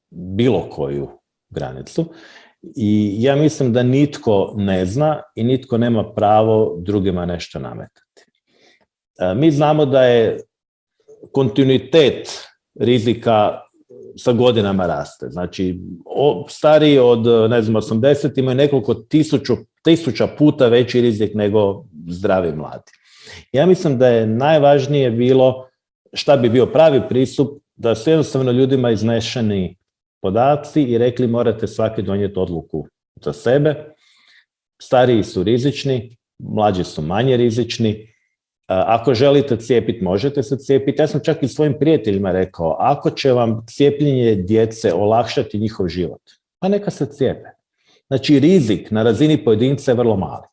bilo koju granicu i ja mislim da nitko ne zna i nitko nema pravo drugima nešto nametati. Mi znamo da je kontinuitet rizika sa godinama raste. Znači, stariji od, 80 imaju nekoliko tisuća puta veći rizik nego zdravi mladi. Ja mislim da je najvažnije bilo šta bi bio pravi pristup, da su jednostavno ljudima iznešeni podaci i rekli morate svaki donijeti odluku za sebe. Stariji su rizični, mlađi su manje rizični. Ako želite cijepiti, možete se cijepiti. Ja sam čak i svojim prijateljima rekao, ako će vam cijepljenje djece olakšati njihov život, pa neka se cijepe. Znači, rizik na razini pojedinca je vrlo mali.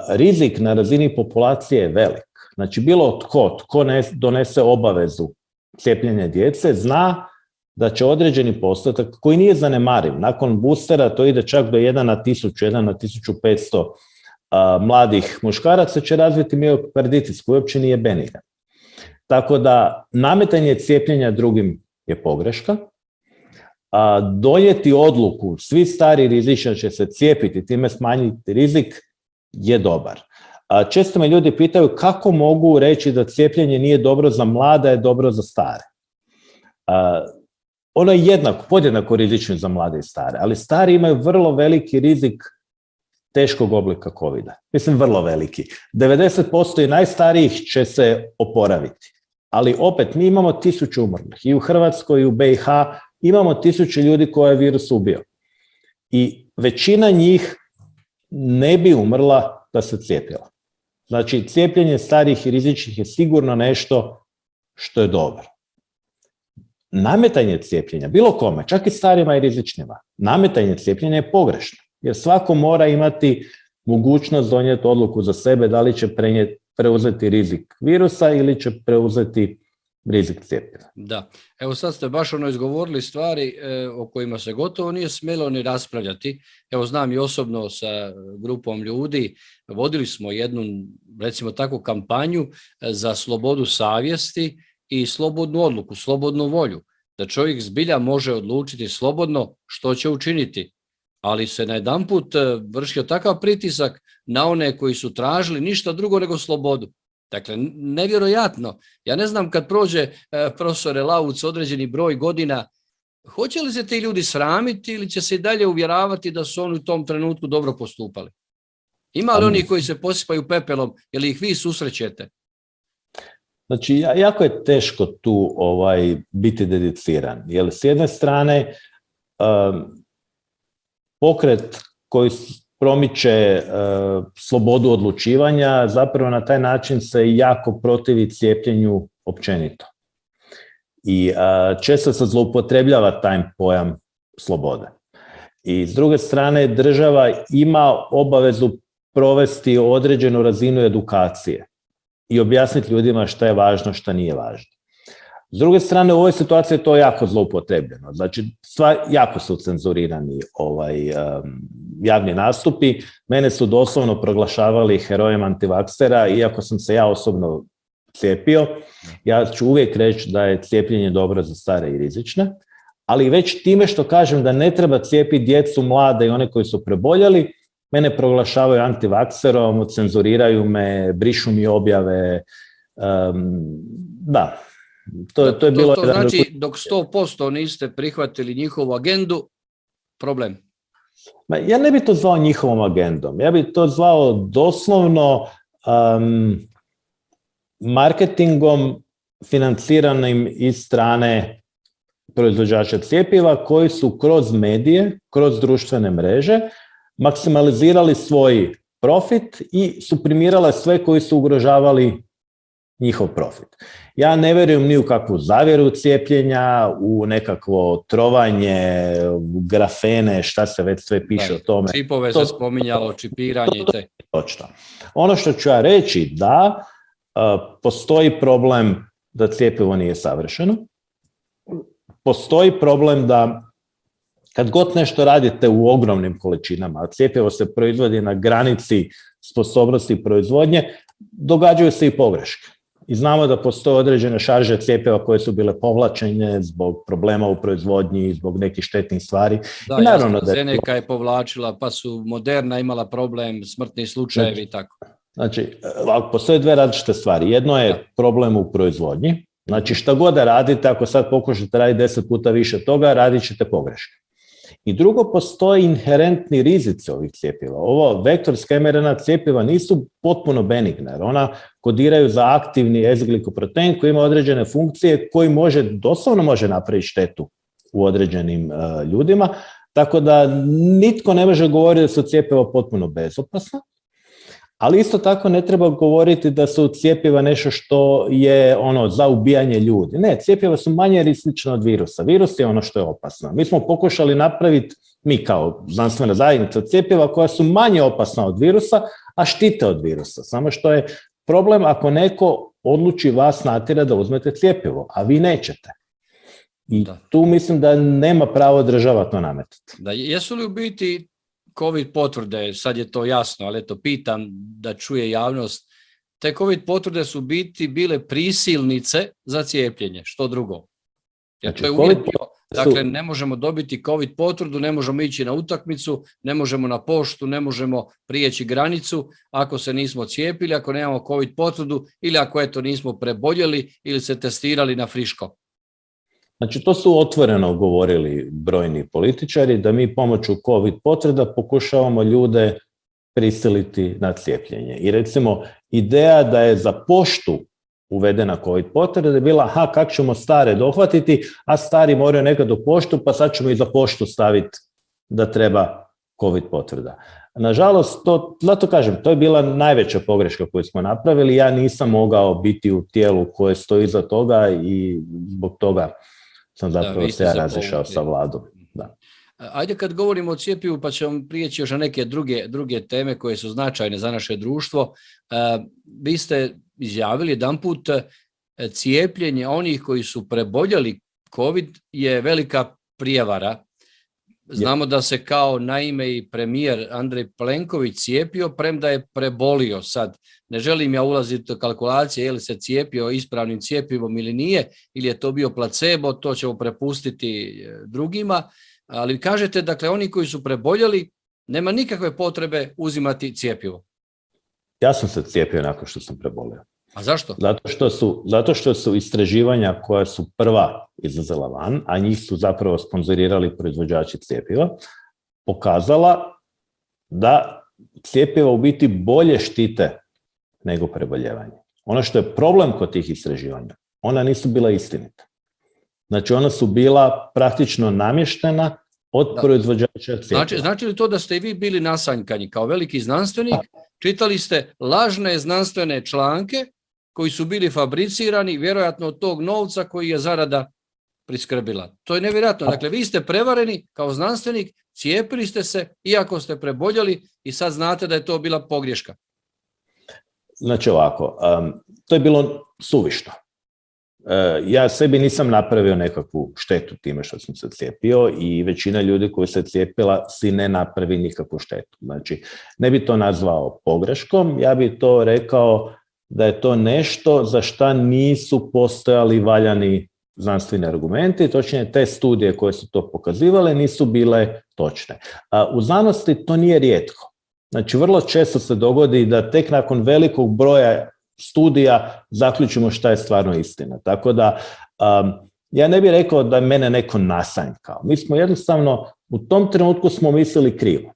Rizik na razini populacije je velik. Znači, bilo tko donese obavezu cijepljenja djece, zna da će određeni postotak, koji nije zanemariv, nakon boostera to ide čak do 1 na 1000, 1 na 1500 mladih muškaraca će razviti miokarditis koji uopće nije benigan. Tako da nametanje cijepljenja drugim je pogreška. Donijeti odluku, svi stari rizični će se cijepiti, time smanjiti rizik, je dobar. Često me ljudi pitaju kako mogu reći da cijepljenje nije dobro za mlade, je dobro za stare. Ono je podjednako rizično za mlade i stare, ali stari imaju vrlo veliki rizik teškog oblika COVID-a. Mislim, vrlo veliki. 90% i najstarijih će se oporaviti. Ali opet, mi imamo 1000 umrlih. I u Hrvatskoj i u BiH imamo 1000 ljudi koje je virus ubio. I većina njih ne bi umrla da se cijepila. Znači, cijepljenje starijih i rizičnih je sigurno nešto što je dobro. Nametanje cijepljenja, bilo kome, čak i starima i rizičnima, nametanje cijepljenja je pogrešno, jer svako mora imati mogućnost donijeti odluku za sebe da li će preuzeti rizik virusa ili će preuzeti rizik cijepljenja. Da, evo sad ste baš izgovorili stvari o kojima se gotovo nije smjelo ni raspravljati. Evo znam i osobno sa grupom ljudi, vodili smo jednu, recimo takvu kampanju za slobodu savjesti i slobodnu odluku, slobodnu volju, da čovjek zbilja može odlučiti slobodno što će učiniti, ali se najedanput vršio takav pritisak na one koji su tražili ništa drugo nego slobodu. Dakle, nevjerojatno. Ja ne znam kad prođe profesore Lauc određeni broj godina, hoće li se ti ljudi sramiti ili će se i dalje uvjeravati da su oni u tom trenutku dobro postupali? Ima li oni koji se posipaju pepelom, ili ih vi susrećete? Znači, jako je teško tu biti dediciran, jer s jedne strane pokret koji promiče slobodu odlučivanja, zapravo na taj način se jako protivi cijepljenju općenito. I često se zloupotrebljava taj pojam slobode. I s druge strane, država ima obavezu provesti određenu razinu edukacije i objasniti ljudima šta je važno, šta nije važno. S druge strane, u ovoj situaciji je to jako zloupotrebljeno. Znači, jako su cenzurirani javni nastupi. Mene su doslovno proglašavali herojem antivaksera, iako sam se ja osobno cijepio. Ja ću uvijek reći da je cijepljenje dobro za stare i rizične, ali već time što kažem da ne treba cijepiti djecu, mlade i one koji su preboljeli, mene proglašavaju antivakserom, cenzuriraju me, brišu mi objave. Da. To je bilo. To znači, dok 100% niste prihvatili njihovu agendu, problem. Ja ne bih to zvao njihovom agendom. Ja bih to zvao doslovno marketingom financiranim iz strane proizvođača cjepiva koji su kroz medije, kroz društvene mreže maksimalizirali svoj profit i suprimirale sve koji su ugrožavali njihov profit. Ja ne vjerujem ni u kakvu zavjeru cijepljenja, u nekakvo trovanje, grafene, šta se već sve piše o tome. Čipove se spominjalo, čipiranje i te. Točno. Ono što ću ja reći da postoji problem da cjepivo nije savršeno. Postoji problem da kad god nešto radite u ogromnim količinama, a cjepivo se proizvodi na granici sposobnosti proizvodnje, događaju se i pogreške. I znamo da postoje određene šarže cjepiva koje su bile povlačene zbog problema u proizvodnji, zbog nekih štetnih stvari. Da, i naravno da Zeneka je povlačila, pa su Moderna imala problem, smrtni slučajevi i tako. Znači, postoje dve različite stvari. Jedno je problem u proizvodnji. Znači, šta god da radite, ako sad pokušate raditi 10 puta više toga, radit ćete pogreške. I drugo, postoji inherentni rizici ovih cjepiva. Ovo vektorska mRNA cjepiva nisu potpuno benigna, jer ona kodiraju za aktivni S-glikoprotein koji ima određene funkcije koji doslovno može napraviti štetu u određenim ljudima. Tako da nitko ne može govoriti da su cjepiva potpuno bezopasna, ali isto tako ne treba govoriti da su cjepiva nešto što je za ubijanje ljudi. Ne, cjepiva su manje rizična od virusa. Virus je ono što je opasno. Mi smo pokušali napraviti, mi kao znanstvena zajednica, cjepiva koja su manje opasna od virusa, a štite od virusa. Samo što je problem ako neko odluči vas natjerati da uzmete cjepivo, a vi nećete. I tu mislim da nema pravo država to nametati. Da, jesu li u biti COVID potvrde, sad je to jasno, ali eto pitam da čuje javnost, te COVID potvrde su biti bile prisilnice za cijepljenje, što drugo? Jer to je uvijek bio, dakle ne možemo dobiti COVID potvrdu, ne možemo ići na utakmicu, ne možemo na poštu, ne možemo prijeći granicu ako se nismo cijepili, ako nemamo COVID potvrdu ili ako nismo preboljeli ili se testirali na friško. Znači, to su otvoreno govorili brojni političari, da mi pomoću COVID potvrda pokušavamo ljude prisiliti na cijepljenje. I recimo, ideja da je za poštu uvedena COVID potvrda je bila, kako ćemo stare dohvatiti, a stari moraju nekad u poštu, pa sad ćemo i za poštu staviti da treba COVID potvrda. Nažalost, zato kažem, to je bila najveća pogreška koju smo napravili. Ja nisam mogao biti u tijelu koje stoji iza toga i zbog toga sam zapravo se ja razišao sa vladom. Da. Ajde kad govorimo o cjepivu, pa ćemo prijeći još na neke druge teme koje su značajne za naše društvo. Vi ste izjavili jedanput, cijepljenje onih koji su preboljeli COVID je velika prijevara. Znamo da se kao naime i premijer Andrej Plenković cijepio, premda je prebolio. Sad ne želim ja ulaziti u kalkulacije je li se cijepio ispravnim cjepivom ili nije, ili je to bio placebo, to ćemo prepustiti drugima, ali kažete, dakle, oni koji su preboljeli, nema nikakve potrebe uzimati cjepivo. Ja sam se cijepio nakon što sam prebolio. A zašto? Zato što su istraživanja koja su prva izlazila van, a njih su zapravo sponzorirali proizvođači cjepiva, pokazala da cjepiva u biti bolje štite nego preboljevanje. Ono što je problem kod tih istraživanja, ona nisu bila istinita. Znači, ona su bila praktično namještena od proizvođača cjepiva. Znači li to da ste i vi bili nasanjkani kao veliki znanstvenik, čitali ste lažne znanstvene članke koji su bili fabricirani, vjerojatno od tog novca koji je zarada priskrbila. To je nevjerojatno. Dakle, vi ste prevareni kao znanstvenik, cijepili ste se, iako ste preboljeli i sad znate da je to bila pogreška. Znači ovako, to je bilo suvišno. Ja sebi nisam napravio nekakvu štetu time što sam se cijepio i većina ljudi koji se cijepila si ne napravi nikakvu štetu. Znači, ne bi to nazvao pogreškom, ja bi to rekao da je to nešto za šta nisu postojali valjani znanstveni argumenti, točnije te studije koje su to pokazivale nisu bile točne. U znanosti to nije rijetko. Znači, vrlo često se dogodi da tek nakon velikog broja studija zaključimo šta je stvarno istina. Tako da, ja ne bih rekao da je mene neko nasanjkao. Mi smo jednostavno, u tom trenutku smo mislili krivo.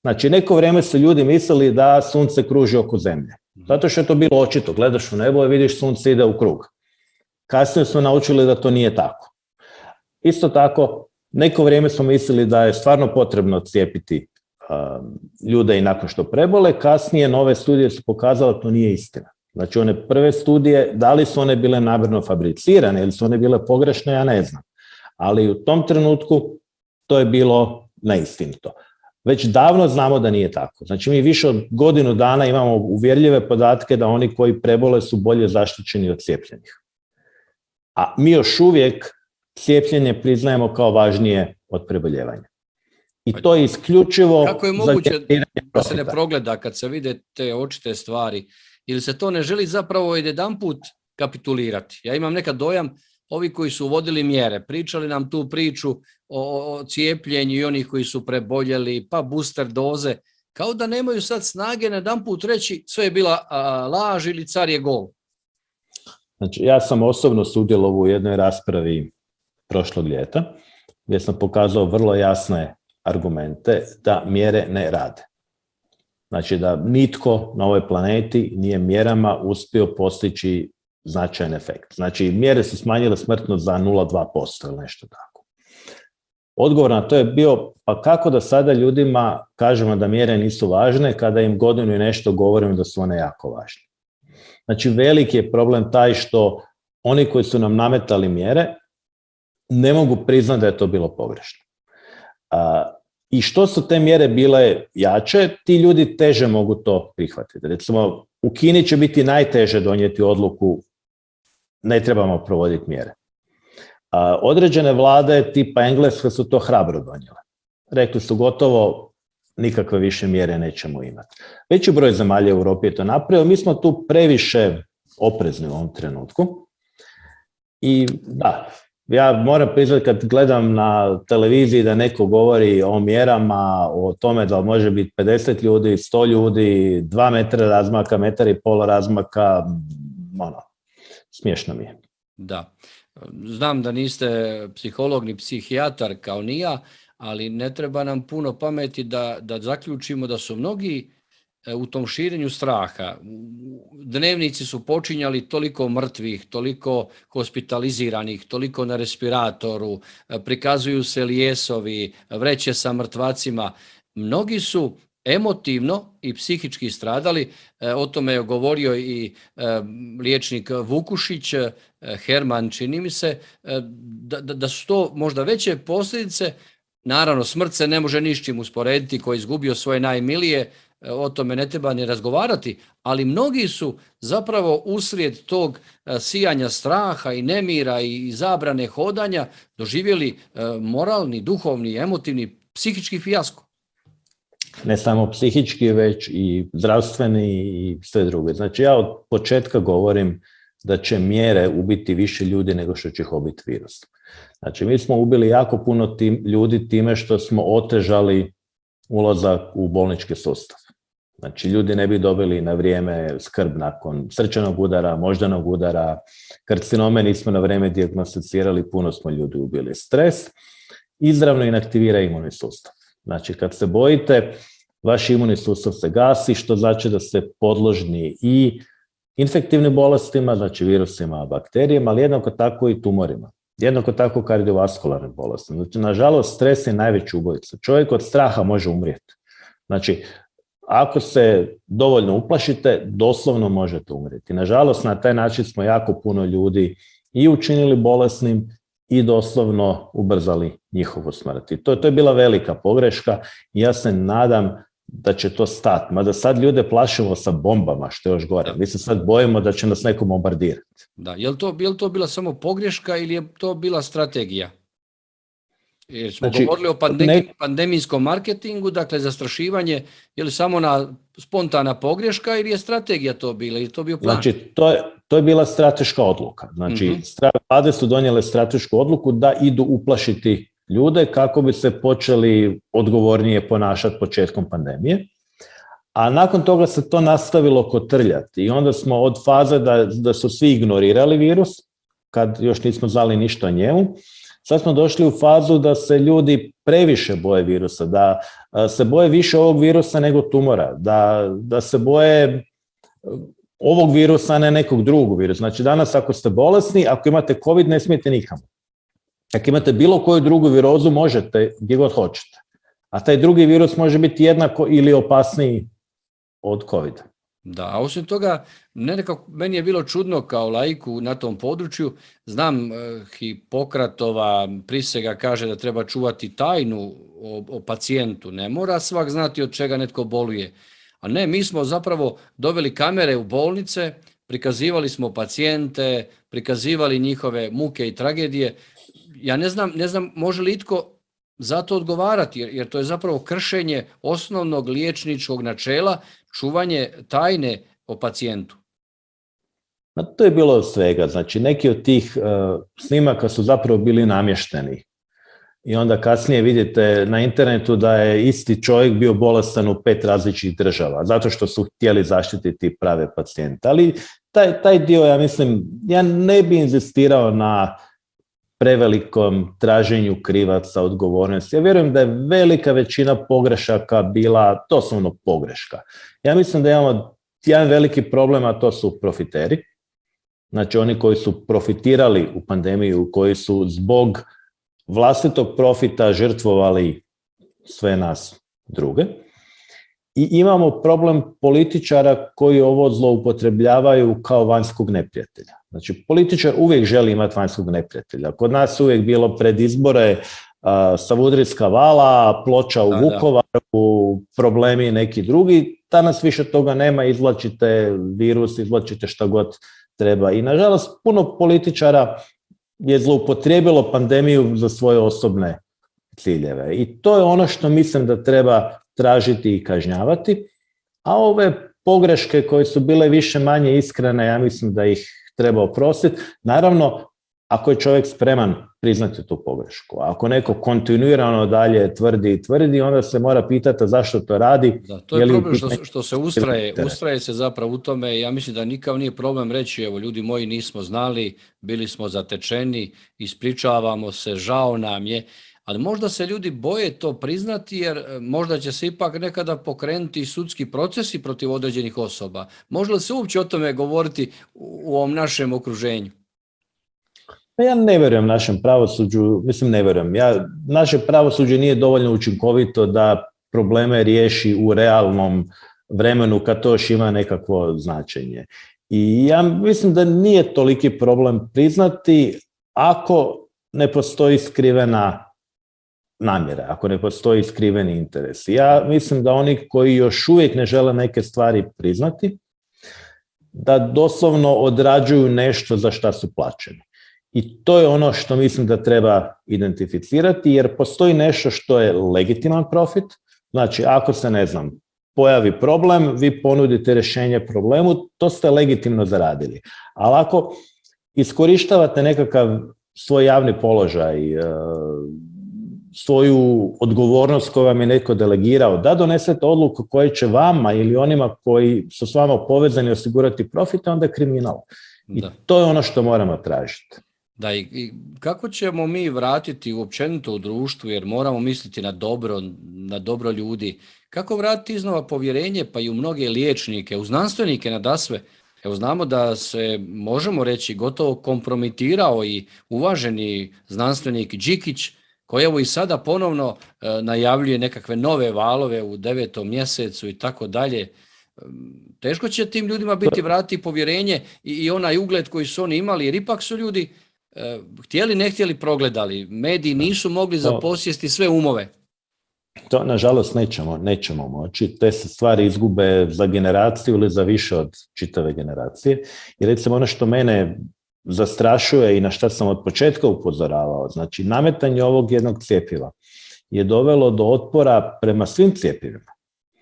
Znači, neko vrijeme su ljudi mislili da sunce kruži oko zemlje. Zato što je to bilo očito. Gledaš u nebo i vidiš sunce ide u krug. Kasnije smo naučili da to nije tako. Isto tako, neko vrijeme smo mislili da je stvarno potrebno cijepiti ljude i nakon što prebole. Kasnije nove studije su pokazale da to nije istina. Znači, one prve studije, da li su one bile namjerno fabricirane ili su one bile pogrešne, ja ne znam. Ali u tom trenutku to je bilo neistinito. Već davno znamo da nije tako. Znači, mi više od godinu dana imamo uvjerljive podatke da oni koji prebole su bolje zaštićeni od cijepljenih. A mi još uvijek cijepljenje priznajemo kao važnije od preboljevanja. I to je isključivo... Kako je moguće da se ne progleda kad se vide te očite stvari? Ili se to ne želi zapravo jedanput kapitulirati? Ja imam nekad dojam, ovi koji su uvodili mjere, pričali nam tu priču o cijepljenju i onih koji su preboljeli, pa booster doze, kao da nemaju sad snage na jedanput reći sve je bila laž ili car je gol. Znači, ja sam osobno sudjelovao u jednoj raspravi prošlog ljeta, gdje sam pokazao vrlo jasne argumente da mjere ne rade. Znači, da nitko na ovoj planeti nije mjerama uspio postići značajan efekt. Znači, mjere su smanjile smrtnost za 0,2% ili nešto tako. odgovor na to je bio, pa kako da sada ljudima kažemo da mjere nisu važne kada im godinu i nešto govorimo da su one jako važne. Znači, veliki je problem taj što oni koji su nam nametali mjere ne mogu priznati da je to bilo pogrešno. I što su te mjere bile jače, ti ljudi teže mogu to prihvatiti. Recimo, u Kini će biti najteže donijeti odluku ne trebamo provoditi mjere. Određene vlade tipa Engleska su to hrabro donijele. Rekli su gotovo, nikakve više mjere nećemo imati. Veći broj zemalja u Europi je to napravio. Mi smo tu previše oprezni u ovom trenutku. I da, ja moram priznati kad gledam na televiziji da neko govori o mjerama, o tome da može biti 50 ljudi, 100 ljudi, 2 metra razmaka, 1,5 metra razmaka, smiješno mi je. Da. Znam da niste psiholog ni psihijatar kao ni ja, ali ne treba nam puno pameti da zaključimo da su mnogi u tom širenju straha. Dnevnici su počinjali toliko mrtvih, toliko hospitaliziranih, toliko na respiratoru, prikazuju se lijesovi, vreće sa mrtvacima. Mnogi su emotivno i psihički stradali. O tome je govorio i liječnik Vukušić, Herman, čini mi se, da su to možda veće posljedice. Naravno, smrt se ne može ni s čim usporediti, ko je izgubio svoje najmilije, o tome ne treba ni razgovarati, ali mnogi su zapravo uslijed tog sijanja straha i nemira i zabrane hodanja doživjeli moralni, duhovni, emotivni, psihički fijasko. Ne samo psihički, već i zdravstveni i sve druge. Znači, ja od početka govorim da će mjere ubiti više ljudi nego što će ih ubiti virus. Znači, mi smo ubili jako puno ljudi time što smo otežali ulazak u bolnički sustav. Znači, ljudi ne bi dobili na vrijeme skrb nakon srčanog udara, moždanog udara, karcinome nismo na vrijeme dijagnosticirali, puno smo ljudi ubili. Stres izravno inaktivira imunni sustav. Znači, kad se bojite, vaš imunni sustav se gasi, što znači da ste podložni i infektivnim bolestima, znači virusima, bakterijama, ali jednako tako i tumorima. Jednako tako kardiovaskularne bolesti. Znači, nažalost, stres je najveći ubojica. Čovjek od straha može umrijeti. Znači, ako se dovoljno uplašite, doslovno možete umrijeti. Nažalost, na taj način smo jako puno ljudi i učinili bolesnim i doslovno ubrzali njihovu smrt. I to je bila velika pogreška i ja se nadam da će to stati. Mada sad ljude plašimo sa bombama, što je još gore. Mi se sad bojimo da će nas neko bombardirati. Da, je li to bila samo pogreška ili je to bila strategija? Jer smo govorili o pandemijskom marketingu, dakle zastrašivanje, je li samo spontana pogreška ili je strategija to bila, ili je to bio plan? Znači, to je bila strateška odluka. Znači, vlade su donijele stratešku odluku da idu uplašiti ljude kako bi se počeli odgovornije ponašati početkom pandemije. A nakon toga se to nastavilo kotrljati i onda smo od faze da su svi ignorirali virus, kad još nismo znali ništa o njemu, sad smo došli u fazu da se ljudi previše boje virusa, da se boje više ovog virusa nego tumora, da se boje ovog virusa, a ne nekog drugog virusa. Znači, danas ako ste bolesni, ako imate COVID, ne smijete nikamo. Ako imate bilo koju drugu virozu, možete gdje god hoćete. A taj drugi virus može biti jednako ili opasniji od COVID. Da, a osim toga, meni je bilo čudno kao laiku na tom području. Znam, Hipokratova prisega kaže da treba čuvati tajnu o pacijentu. Ne mora svak znati od čega netko boluje. A ne, mi smo zapravo doveli kamere u bolnice, prikazivali smo pacijente, prikazivali njihove muke i tragedije. Ja ne znam može li itko za to odgovarati, jer to je zapravo kršenje osnovnog liječničkog načela, čuvanje tajne o pacijentu. To je bilo od svega. Znači, neki od tih snimaka su zapravo bili namješteni. I onda kasnije vidite na internetu da je isti čovjek bio bolestan u 5 različitih država, zato što su htjeli zaštititi prave pacijente. Ali taj dio, ja mislim, ja ne bi inzistirao na prevelikom traženju krivaca, odgovornosti. Ja vjerujem da je velika većina pogrešaka bila doslovno pogreška. Ja mislim da imamo jedan veliki problem, a to su profiteri. Znači, oni koji su profitirali u pandemiju, koji su zbog vlastitog profita žrtvovali sve nas druge. I imamo problem političara koji ovo zloupotrebljavaju kao vanjskog neprijatelja. Znači, političar uvijek želi imati vanjskog neprijatelja. Kod nas uvijek bilo pred izbore Savudrijska vala, ploča u Vukovaru, problemi neki drugi. Danas više toga nema, izvlačite virus, izvlačite šta god treba. I nažalost, puno političara je zloupotrijebilo pandemiju za svoje osobne ciljeve. I to je ono što mislim da treba tražiti i kažnjavati. A ove pogreške koje su bile više manje iskrene, ja mislim da ih treba oprostiti. Naravno, ako je čovjek spreman priznati tu pogrešku. A ako neko kontinuirano dalje tvrdi, onda se mora pitati zašto to radi. Da, to je problem što se ustraje se zapravo u tome. Ja mislim da nikad nije problem reći, evo ljudi moji, nismo znali, bili smo zatečeni, ispričavamo se, žao nam je. Ali možda se ljudi boje to priznati jer možda će se ipak nekada pokrenuti sudski procesi protiv određenih osoba. Može li se uopće o tome govoriti u ovom našem okruženju? Ja ne vjerujem našem pravosuđu, ne vjerujem. Naše pravosuđe nije dovoljno učinkovito da probleme riješi u realnom vremenu kad to još ima nekakvo značenje. I ja mislim da nije toliki problem priznati ako ne postoji skrivena namjera, ako ne postoji skriveni interes. Ja mislim da oni koji još uvijek ne žele neke stvari priznati, da doslovno odrađuju nešto za šta su plaćeni. I to je ono što mislim da treba identificirati, jer postoji nešto što je legitiman profit. Znači, ako se, pojavi problem, vi ponudite rješenje problemu, to ste legitimno zaradili. Ali ako iskorištavate nekakav svoj javni položaj, svoju odgovornost koju vam je netko delegirao, da donesete odluku koja će vama ili onima koji su s vama povezani osigurati profit, onda je kriminal. I to je ono što moramo tražiti. Da, i kako ćemo mi vratiti uopćenito u društvu, jer moramo misliti na dobro ljudi, kako vratiti iznova povjerenje pa i u mnoge liječnike, u znanstvenike nadasve? Evo znamo da se, možemo reći, gotovo kompromitirao i uvaženi znanstvenik Đikić, koji evo i sada ponovno najavljuje nekakve nove valove u 9. mjesecu i tako dalje. Teško će tim ljudima biti vratiti povjerenje i onaj ugled koji su oni imali, jer ipak su ljudi htjeli, ne htjeli, progledali. Mediji nisu mogli zaposjesti sve umove. To, nažalost, nećemo moći. Te se stvari izgube za generaciju ili za više od čitave generacije. I recimo ono što mene zastrašuje i na što sam od početka upozoravao, znači nametanje ovog jednog cjepiva je dovelo do otpora prema svim cjepivima.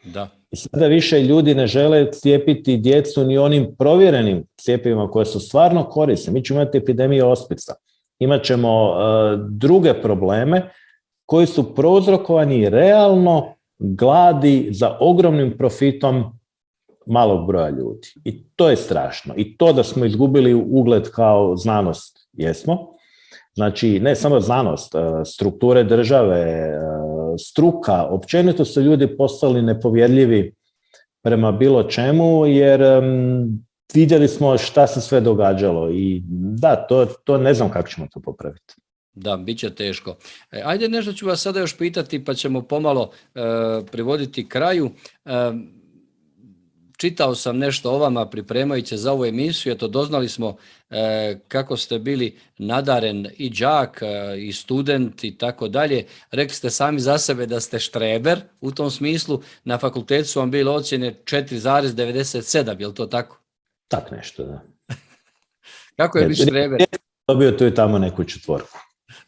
Da. I sada više ljudi ne žele cijepiti djecu ni onim provjerenim cjepivima koje su stvarno korisne. Mi ćemo imati epidemiju ospica. Imat ćemo druge probleme koji su prouzrokovani realno gladi za ogromnim profitom malog broja ljudi. I to je strašno. I to da smo izgubili ugled kao znanost, jesmo. Znači, ne samo znanost, strukture države, struka, općenito su ljudi postali nepovjerljivi prema bilo čemu, jer vidjeli smo šta se sve događalo. I da, to ne znam kako ćemo to popraviti. Da, bit će teško. Ajde, nešto ću vas sada još pitati, pa ćemo pomalo privoditi kraju. Čitao sam nešto o vama pripremajući za ovu emisiju, eto doznali smo kako ste bili nadaren i đak i student i tako dalje. Rekli ste sami za sebe da ste štreber u tom smislu. Na fakultetu su vam bile ocjene 4,97, je li to tako? Tak nešto, da. Kako je biti štreber? Dobio tu i tamo neku četvorku.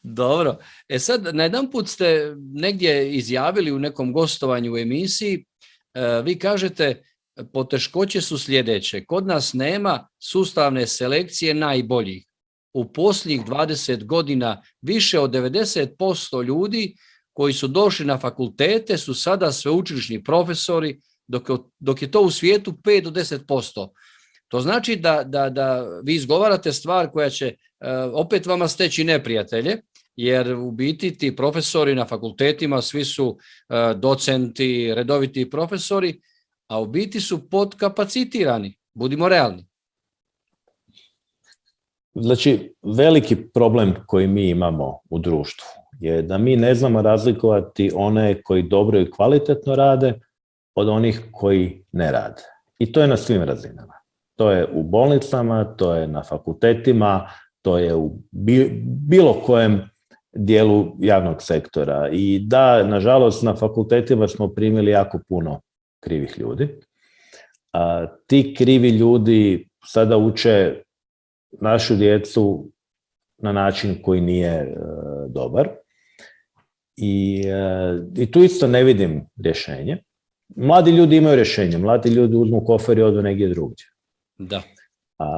Dobro. Sad, najedanput ste negdje izjavili u nekom gostovanju u emisiji, vi kažete, poteškoće su sljedeće. Kod nas nema sustavne selekcije najboljih. U posljednjih 20 godina više od 90% ljudi koji su došli na fakultete su sada sveučilišni profesori, dok je to u svijetu 5 do 10%. To znači da vi izgovarate stvar koja će opet vama steći neprijatelje, jer u biti ti profesori na fakultetima svi su docenti, redoviti profesori, a u biti su podkapacitirani. Budimo realni. Znači, veliki problem koji mi imamo u društvu je da mi ne znamo razlikovati one koji dobro i kvalitetno rade od onih koji ne rade. I to je na svim razinama. To je u bolnicama, to je na fakultetima, to je u bilo kojem dijelu javnog sektora. I da, nažalost, na fakultetima smo primili jako puno krivih ljudi. Ti krivi ljudi sada uče našu djecu na način koji nije dobar. I tu isto ne vidim rješenje. Mladi ljudi imaju rješenje. Mladi ljudi uzmu kofer i odu negdje drugdje. Da,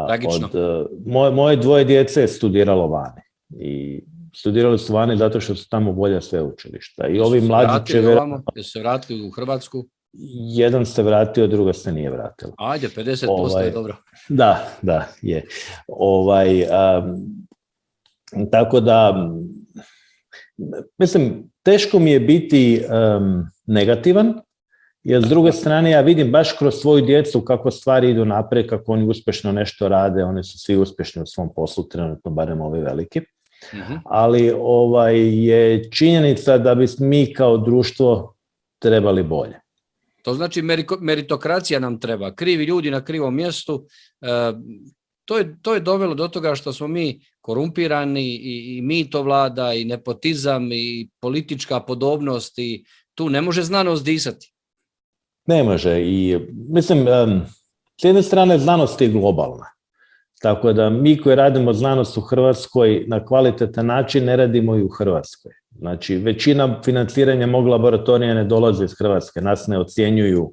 tragično. Moje dvoje djece je studiralo vani. I studirali su vani zato što su tamo bolja sveučilišta. I ovi mlađi će... Jesu se vratili u Hrvatsku? Jedan se vratio, druga se nije vratila. Ajde, 50% je dobro. Da, je. Tako da, mislim, teško mi je biti negativan, jer s druge strane ja vidim baš kroz svoju djecu kako stvari idu naprijed, kako oni uspješno nešto rade, oni su svi uspješni u svom poslu, trenutno barem ovi veliki. Ali je činjenica da bi mi kao društvo trebali bolje. To znači meritokracija nam treba, krivi ljudi na krivom mjestu. To je dovelo do toga što smo mi korumpirani i mito vlada i nepotizam i politička podobnost i tu ne može znanost disati. Ne može i mislim, s jedne strane znanost je globalna. Tako da mi koji radimo znanost u Hrvatskoj na kvalitetan način ne radimo i u Hrvatskoj. Znači, većina financiranja mog laboratorija ne dolazi iz Hrvatske, nas ne ocjenjuju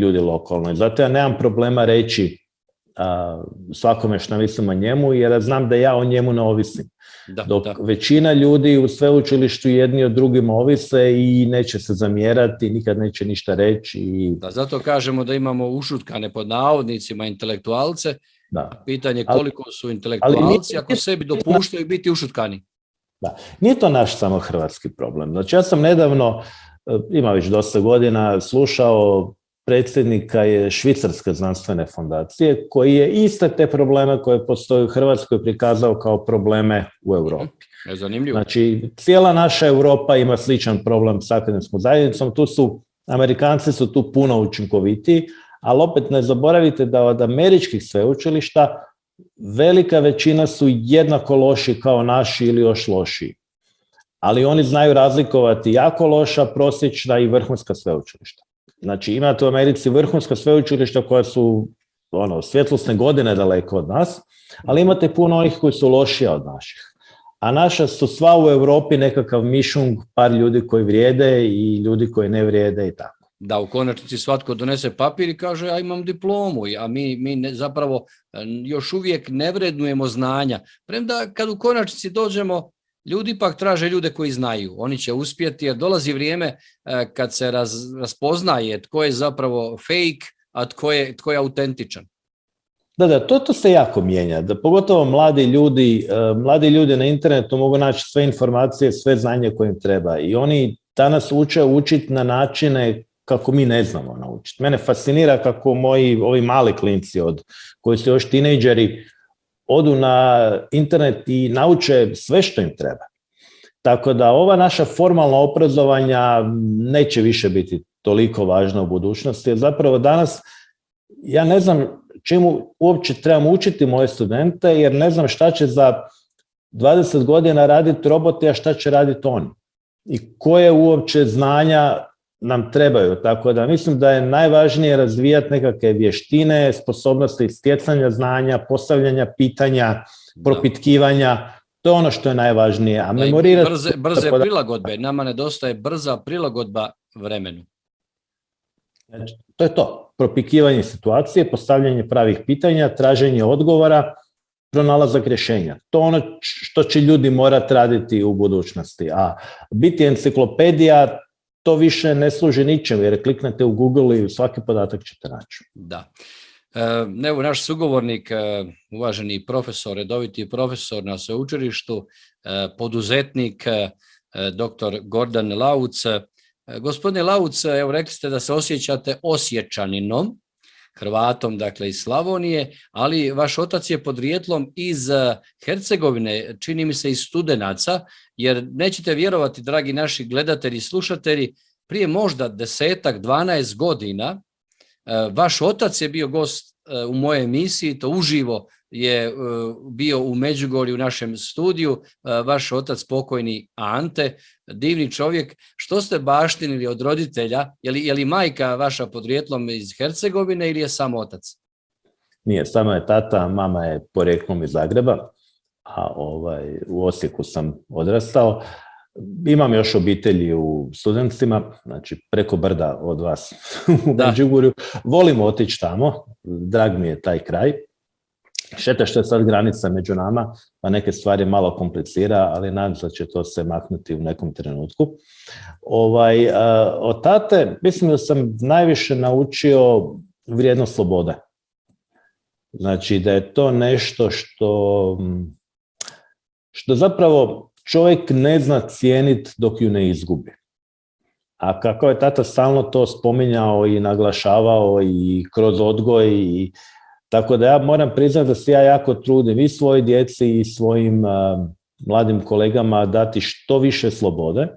ljudi lokalno. I zato ja nemam problema reći svakome što mislim o njemu, jer ja znam da ja o njemu ne ovisim. Dok većina ljudi u sveučilištu jedni od drugima ovise i neće se zamjerati, nikad neće ništa reći. Da, zato kažemo da imamo ušutkane pod navodnicima intelektualce. Da. Pitanje koliko su intelektualci ako sebi dopuštaju biti ušutkani. Da. Nije to naš samo hrvatski problem. Znači, ja sam nedavno, ima već dosta godina, slušao predsjednika je Švicarske znanstvene fondacije, koji je iste te probleme koje postoje u Hrvatskoj prikazao kao probleme u Europi. Zanimljivo. Znači, cijela naša Europa ima sličan problem s akademskom zajednicom. Amerikanci su tu puno učinkovitiji, ali opet ne zaboravite da od američkih sveučilišta velika većina su jednako loši kao naši ili još lošiji. Ali oni znaju razlikovati jako loša, prosječna i vrhunska sveučilišta. Znači, imate u Americi vrhunska sveučilišta koja su svjetlosne godine daleko od nas, ali imate puno onih koji su lošija od naših. A naša su sva u Europi nekakav mišung, par ljudi koji vrijede i ljudi koji ne vrijede i tako. Da, u konačnici svatko donese papir i kaže ja imam diplomu, a mi zapravo još uvijek ne vrednujemo znanja. Premda kad u konačnici dođemo, ljudi ipak traže ljude koji znaju. Oni će uspjeti jer dolazi vrijeme kad se raspoznaje tko je zapravo fake, a tko je autentičan. Da, to se jako mijenja. Da, pogotovo mladi ljudi na internetu mogu naći sve informacije, sve znanje koje im treba. I oni danas uče učiti na načine kako mi ne znamo naučiti. Mene fascinira kako ovi mali klinci koji su još tinejdžeri odu na internet i nauče sve što im treba. Tako da ova naša formalna obrazovanja neće više biti toliko važna u budućnosti, jer zapravo danas ja ne znam čemu uopće trebam učiti moje studente, jer ne znam šta će za 20 godina raditi roboti, a šta će raditi oni. I koje uopće znanja nam trebaju. Tako da mislim da je najvažnije razvijati nekakve vještine, sposobnosti stjecanja znanja, postavljanja pitanja, propitkivanja. To je ono što je najvažnije. A memorirati... Brze prilagodbe. Nama nedostaje brza prilagodba vremenu. Znači, to je to. Propikivanje situacije, postavljanje pravih pitanja, traženje odgovora, pronalazak rješenja. To je ono što će ljudi morati raditi u budućnosti. A biti enciklopedija, to više ne služi ničem, jer kliknete u Google i svaki podatak ćete naći. Da. Evo, naš sugovornik, uvaženi profesor, redoviti profesor na sveučilištu, poduzetnik, dr. Gordan Lauc. Gospodine Lauc, evo rekli ste da se osjećate Osječaninom. Hrvatom, dakle iz Slavonije, ali vaš otac je podrijetlom iz Hercegovine, čini mi se iz Studenaca, jer nećete vjerovati, dragi naši gledatelji i slušatelji, prije možda 10-12 godina vaš otac je bio gost u mojoj emisiji, to uživo je bio u Međugorju u našem studiju, vaš otac pokojni Ante, divni čovjek. Što ste baštinili od roditelja? Je li majka vaša podrijetlom iz Hercegovine ili je samo otac? Nije, samo je tata, mama je porijeklom iz Zagreba, a u Osijeku sam odrastao. Imam još obitelji u Studencima, znači preko brda od vas u Međugorju. Volim otići tamo, drag mi je taj kraj. Šteta što je sad granica među nama, pa neke stvari malo komplicira, ali nadam se da će to se maknuti u nekom trenutku. Od tate mislim da sam najviše naučio vrijednost slobode. Znači da je to nešto što zapravo čovjek ne zna cijeniti dok ju ne izgubi. A kako je tata stalno to spominjao i naglašavao i kroz odgoj i tako da ja moram priznati da se ja jako trudim i svojoj djeci i svojim mladim kolegama dati što više slobode,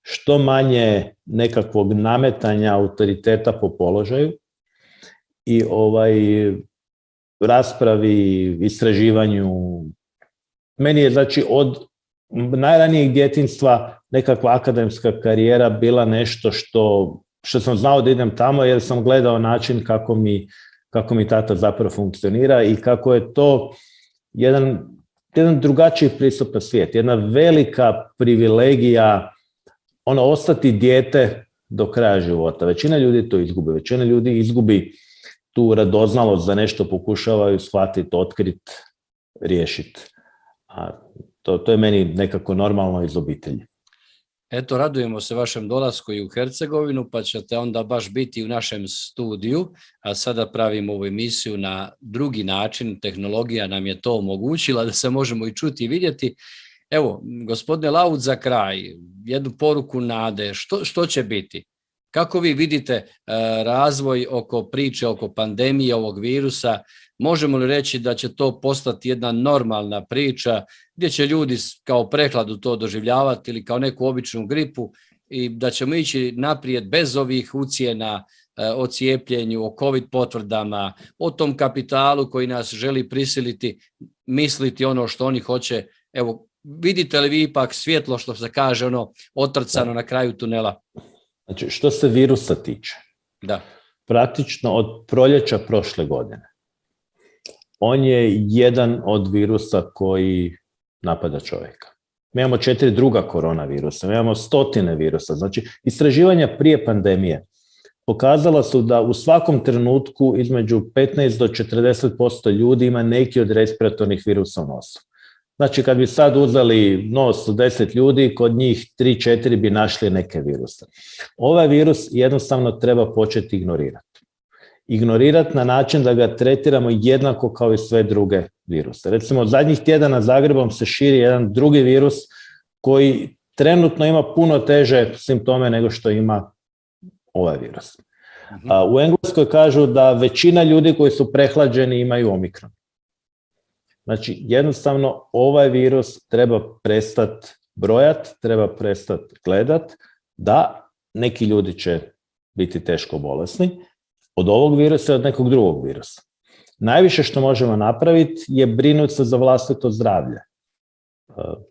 što manje nekakvog nametanja autoriteta po položaju i raspravi, istraživanju. Meni je znači od najranijeg djetinjstva nekakva akademska karijera bila nešto što sam znao da idem tamo jer sam gledao način kako mi tata zapravo funkcionira i kako je to jedan drugačiji pristup na svijet, jedna velika privilegija ostati dijete do kraja života. Većina ljudi to izgubi, većina ljudi izgubi tu radoznalost za nešto pokušavaju shvatiti, otkriti, riješiti. A to je meni nekako normalno iz obitelji. Eto, radujemo se vašem dolasku i u Hercegovinu, pa ćete onda baš biti u našem studiju, a sada pravimo ovu emisiju na drugi način, tehnologija nam je to omogućila da se možemo i čuti i vidjeti. Evo, gospodine Laud, za kraj, jednu poruku nade, što će biti? Kako vi vidite razvoj oko priče, oko pandemije ovog virusa? Možemo li reći da će to postati jedna normalna priča gdje će ljudi kao prehladu to doživljavati ili kao neku običnu gripu i da ćemo ići naprijed bez ovih ucjena o cijepljenju, o COVID potvrdama, o tom kapitalu koji nas želi prisiliti misliti ono što oni hoće? Evo, vidite li vi ipak svjetlo, što se kaže, otrcano na kraju tunela? Znači, što se virusa tiče, praktično od proljeća prošle godine, on je jedan od virusa koji napada čovjeka. Mi imamo 4 druga koronavirusa, mi imamo stotine virusa. Znači, istraživanja prije pandemije pokazala su da u svakom trenutku između 15 do 40% ljudi ima neki od respiratornih virusa u nosu. Znači, kad bi sad uzeli nos od 10 ljudi, kod njih 3-4 bi našli neke viruse. Ovaj virus jednostavno treba početi ignorirati. Ignorirati na način da ga tretiramo jednako kao i sve druge viruse. Recimo, od zadnjih tjedana Zagrebom se širi jedan drugi virus koji trenutno ima puno teže simptome nego što ima ovaj virus. U Engleskoj kažu da većina ljudi koji su prehlađeni imaju omikron. Znači, jednostavno, ovaj virus treba prestati brojati, treba prestati gledati, da neki ljudi će biti teško bolesni od ovog virusa i od nekog drugog virusa. Najviše što možemo napraviti je brinuti se za vlastito zdravlje.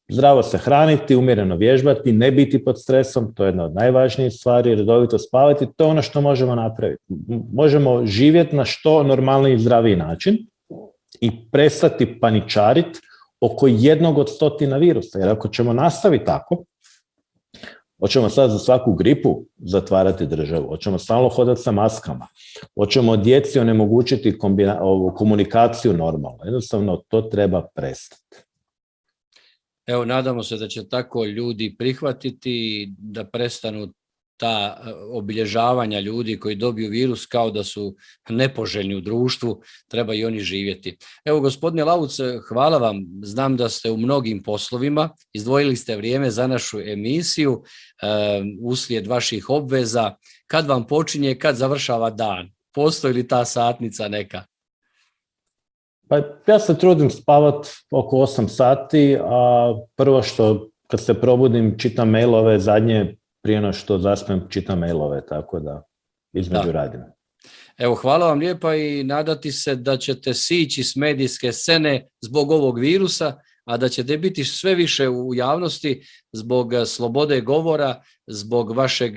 Zdravo se hraniti, umjereno vježbati, ne biti pod stresom, to je jedna od najvažnijih stvari, redovito spavati, to je ono što možemo napraviti. Možemo živjeti na što normalniji i zdraviji način i prestati paničariti oko jednog od 100 virusa. Jer ako ćemo nastaviti tako, hoćemo sad za svaku gripu zatvarati državu, hoćemo stalno hodati sa maskama, hoćemo djeci onemogućiti komunikaciju normalno. Jednostavno, to treba prestati. Evo, nadamo se da će tako ljudi prihvatiti, da prestanu ta obilježavanja ljudi koji dobiju virus kao da su nepoželjni u društvu, treba i oni živjeti. Evo, gospodine Lauc, hvala vam. Znam da ste u mnogim poslovima, izdvojili ste vrijeme za našu emisiju uslijed vaših obveza. Kad vam počinje, kad završava dan? Postoji li ta satnica neka? Pa ja se trudim spavat oko 8 sati, a prvo što kad se probudim čitam mailove, zadnje prije no što zaspem čitam mailove, tako da između radim. Evo, hvala vam lijepa i nadati se da ćete sići s medijske scene zbog ovog virusa, a da ćete biti sve više u javnosti zbog slobode govora, zbog vašeg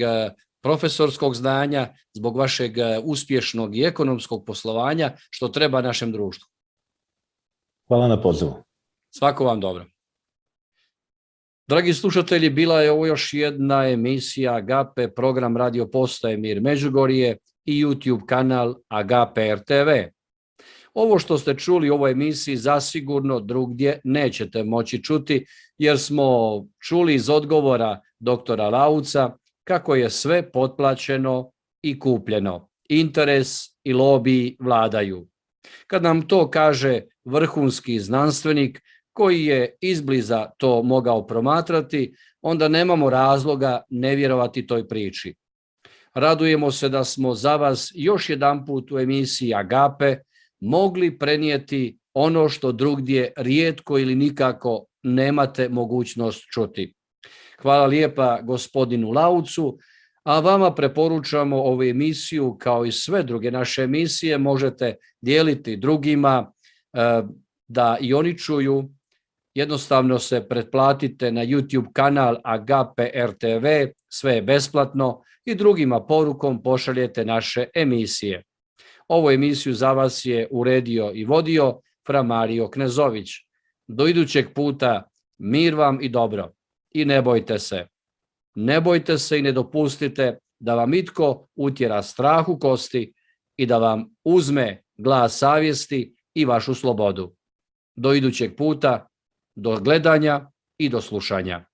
profesorskog znanja, zbog vašeg uspješnog i ekonomskog poslovanja, što treba našem društvu. Hvala na pozivu. Svako vam dobro. Dragi slušatelji, bila je ovo još jedna emisija Agape, program Radio Postaje Mir Međugorje i YouTube kanal Agape RTV. Ovo što ste čuli u ovoj emisiji zasigurno drugdje nećete moći čuti, jer smo čuli iz odgovora doktora Lauca kako je sve potplaćeno i kupljeno. Interes i lobiji vladaju. Kad nam to kaže vrhunski znanstvenik koji je izbliza to mogao promatrati, onda nemamo razloga ne vjerovati toj priči. Radujemo se da smo za vas još jedanput u emisiji Agape mogli prenijeti ono što drugdje rijetko ili nikako nemate mogućnost čuti. Hvala lijepa gospodinu Laucu, a vama preporučamo ovu emisiju kao i sve druge naše emisije možete dijeliti drugima da i oni čuju. Jednostavno se pretplatite na YouTube kanal Agape RTV, sve je besplatno i drugima porukom pošaljete naše emisije. Ovu emisiju za vas je uredio i vodio fra Mario Knezović. Do idućeg puta mir vam i dobro. I ne bojte se. Ne bojte se i ne dopustite da vam itko utjera strah u kosti i da vam uzme glas savjesti i vašu slobodu. Do idućeg puta, do gledanja i do slušanja.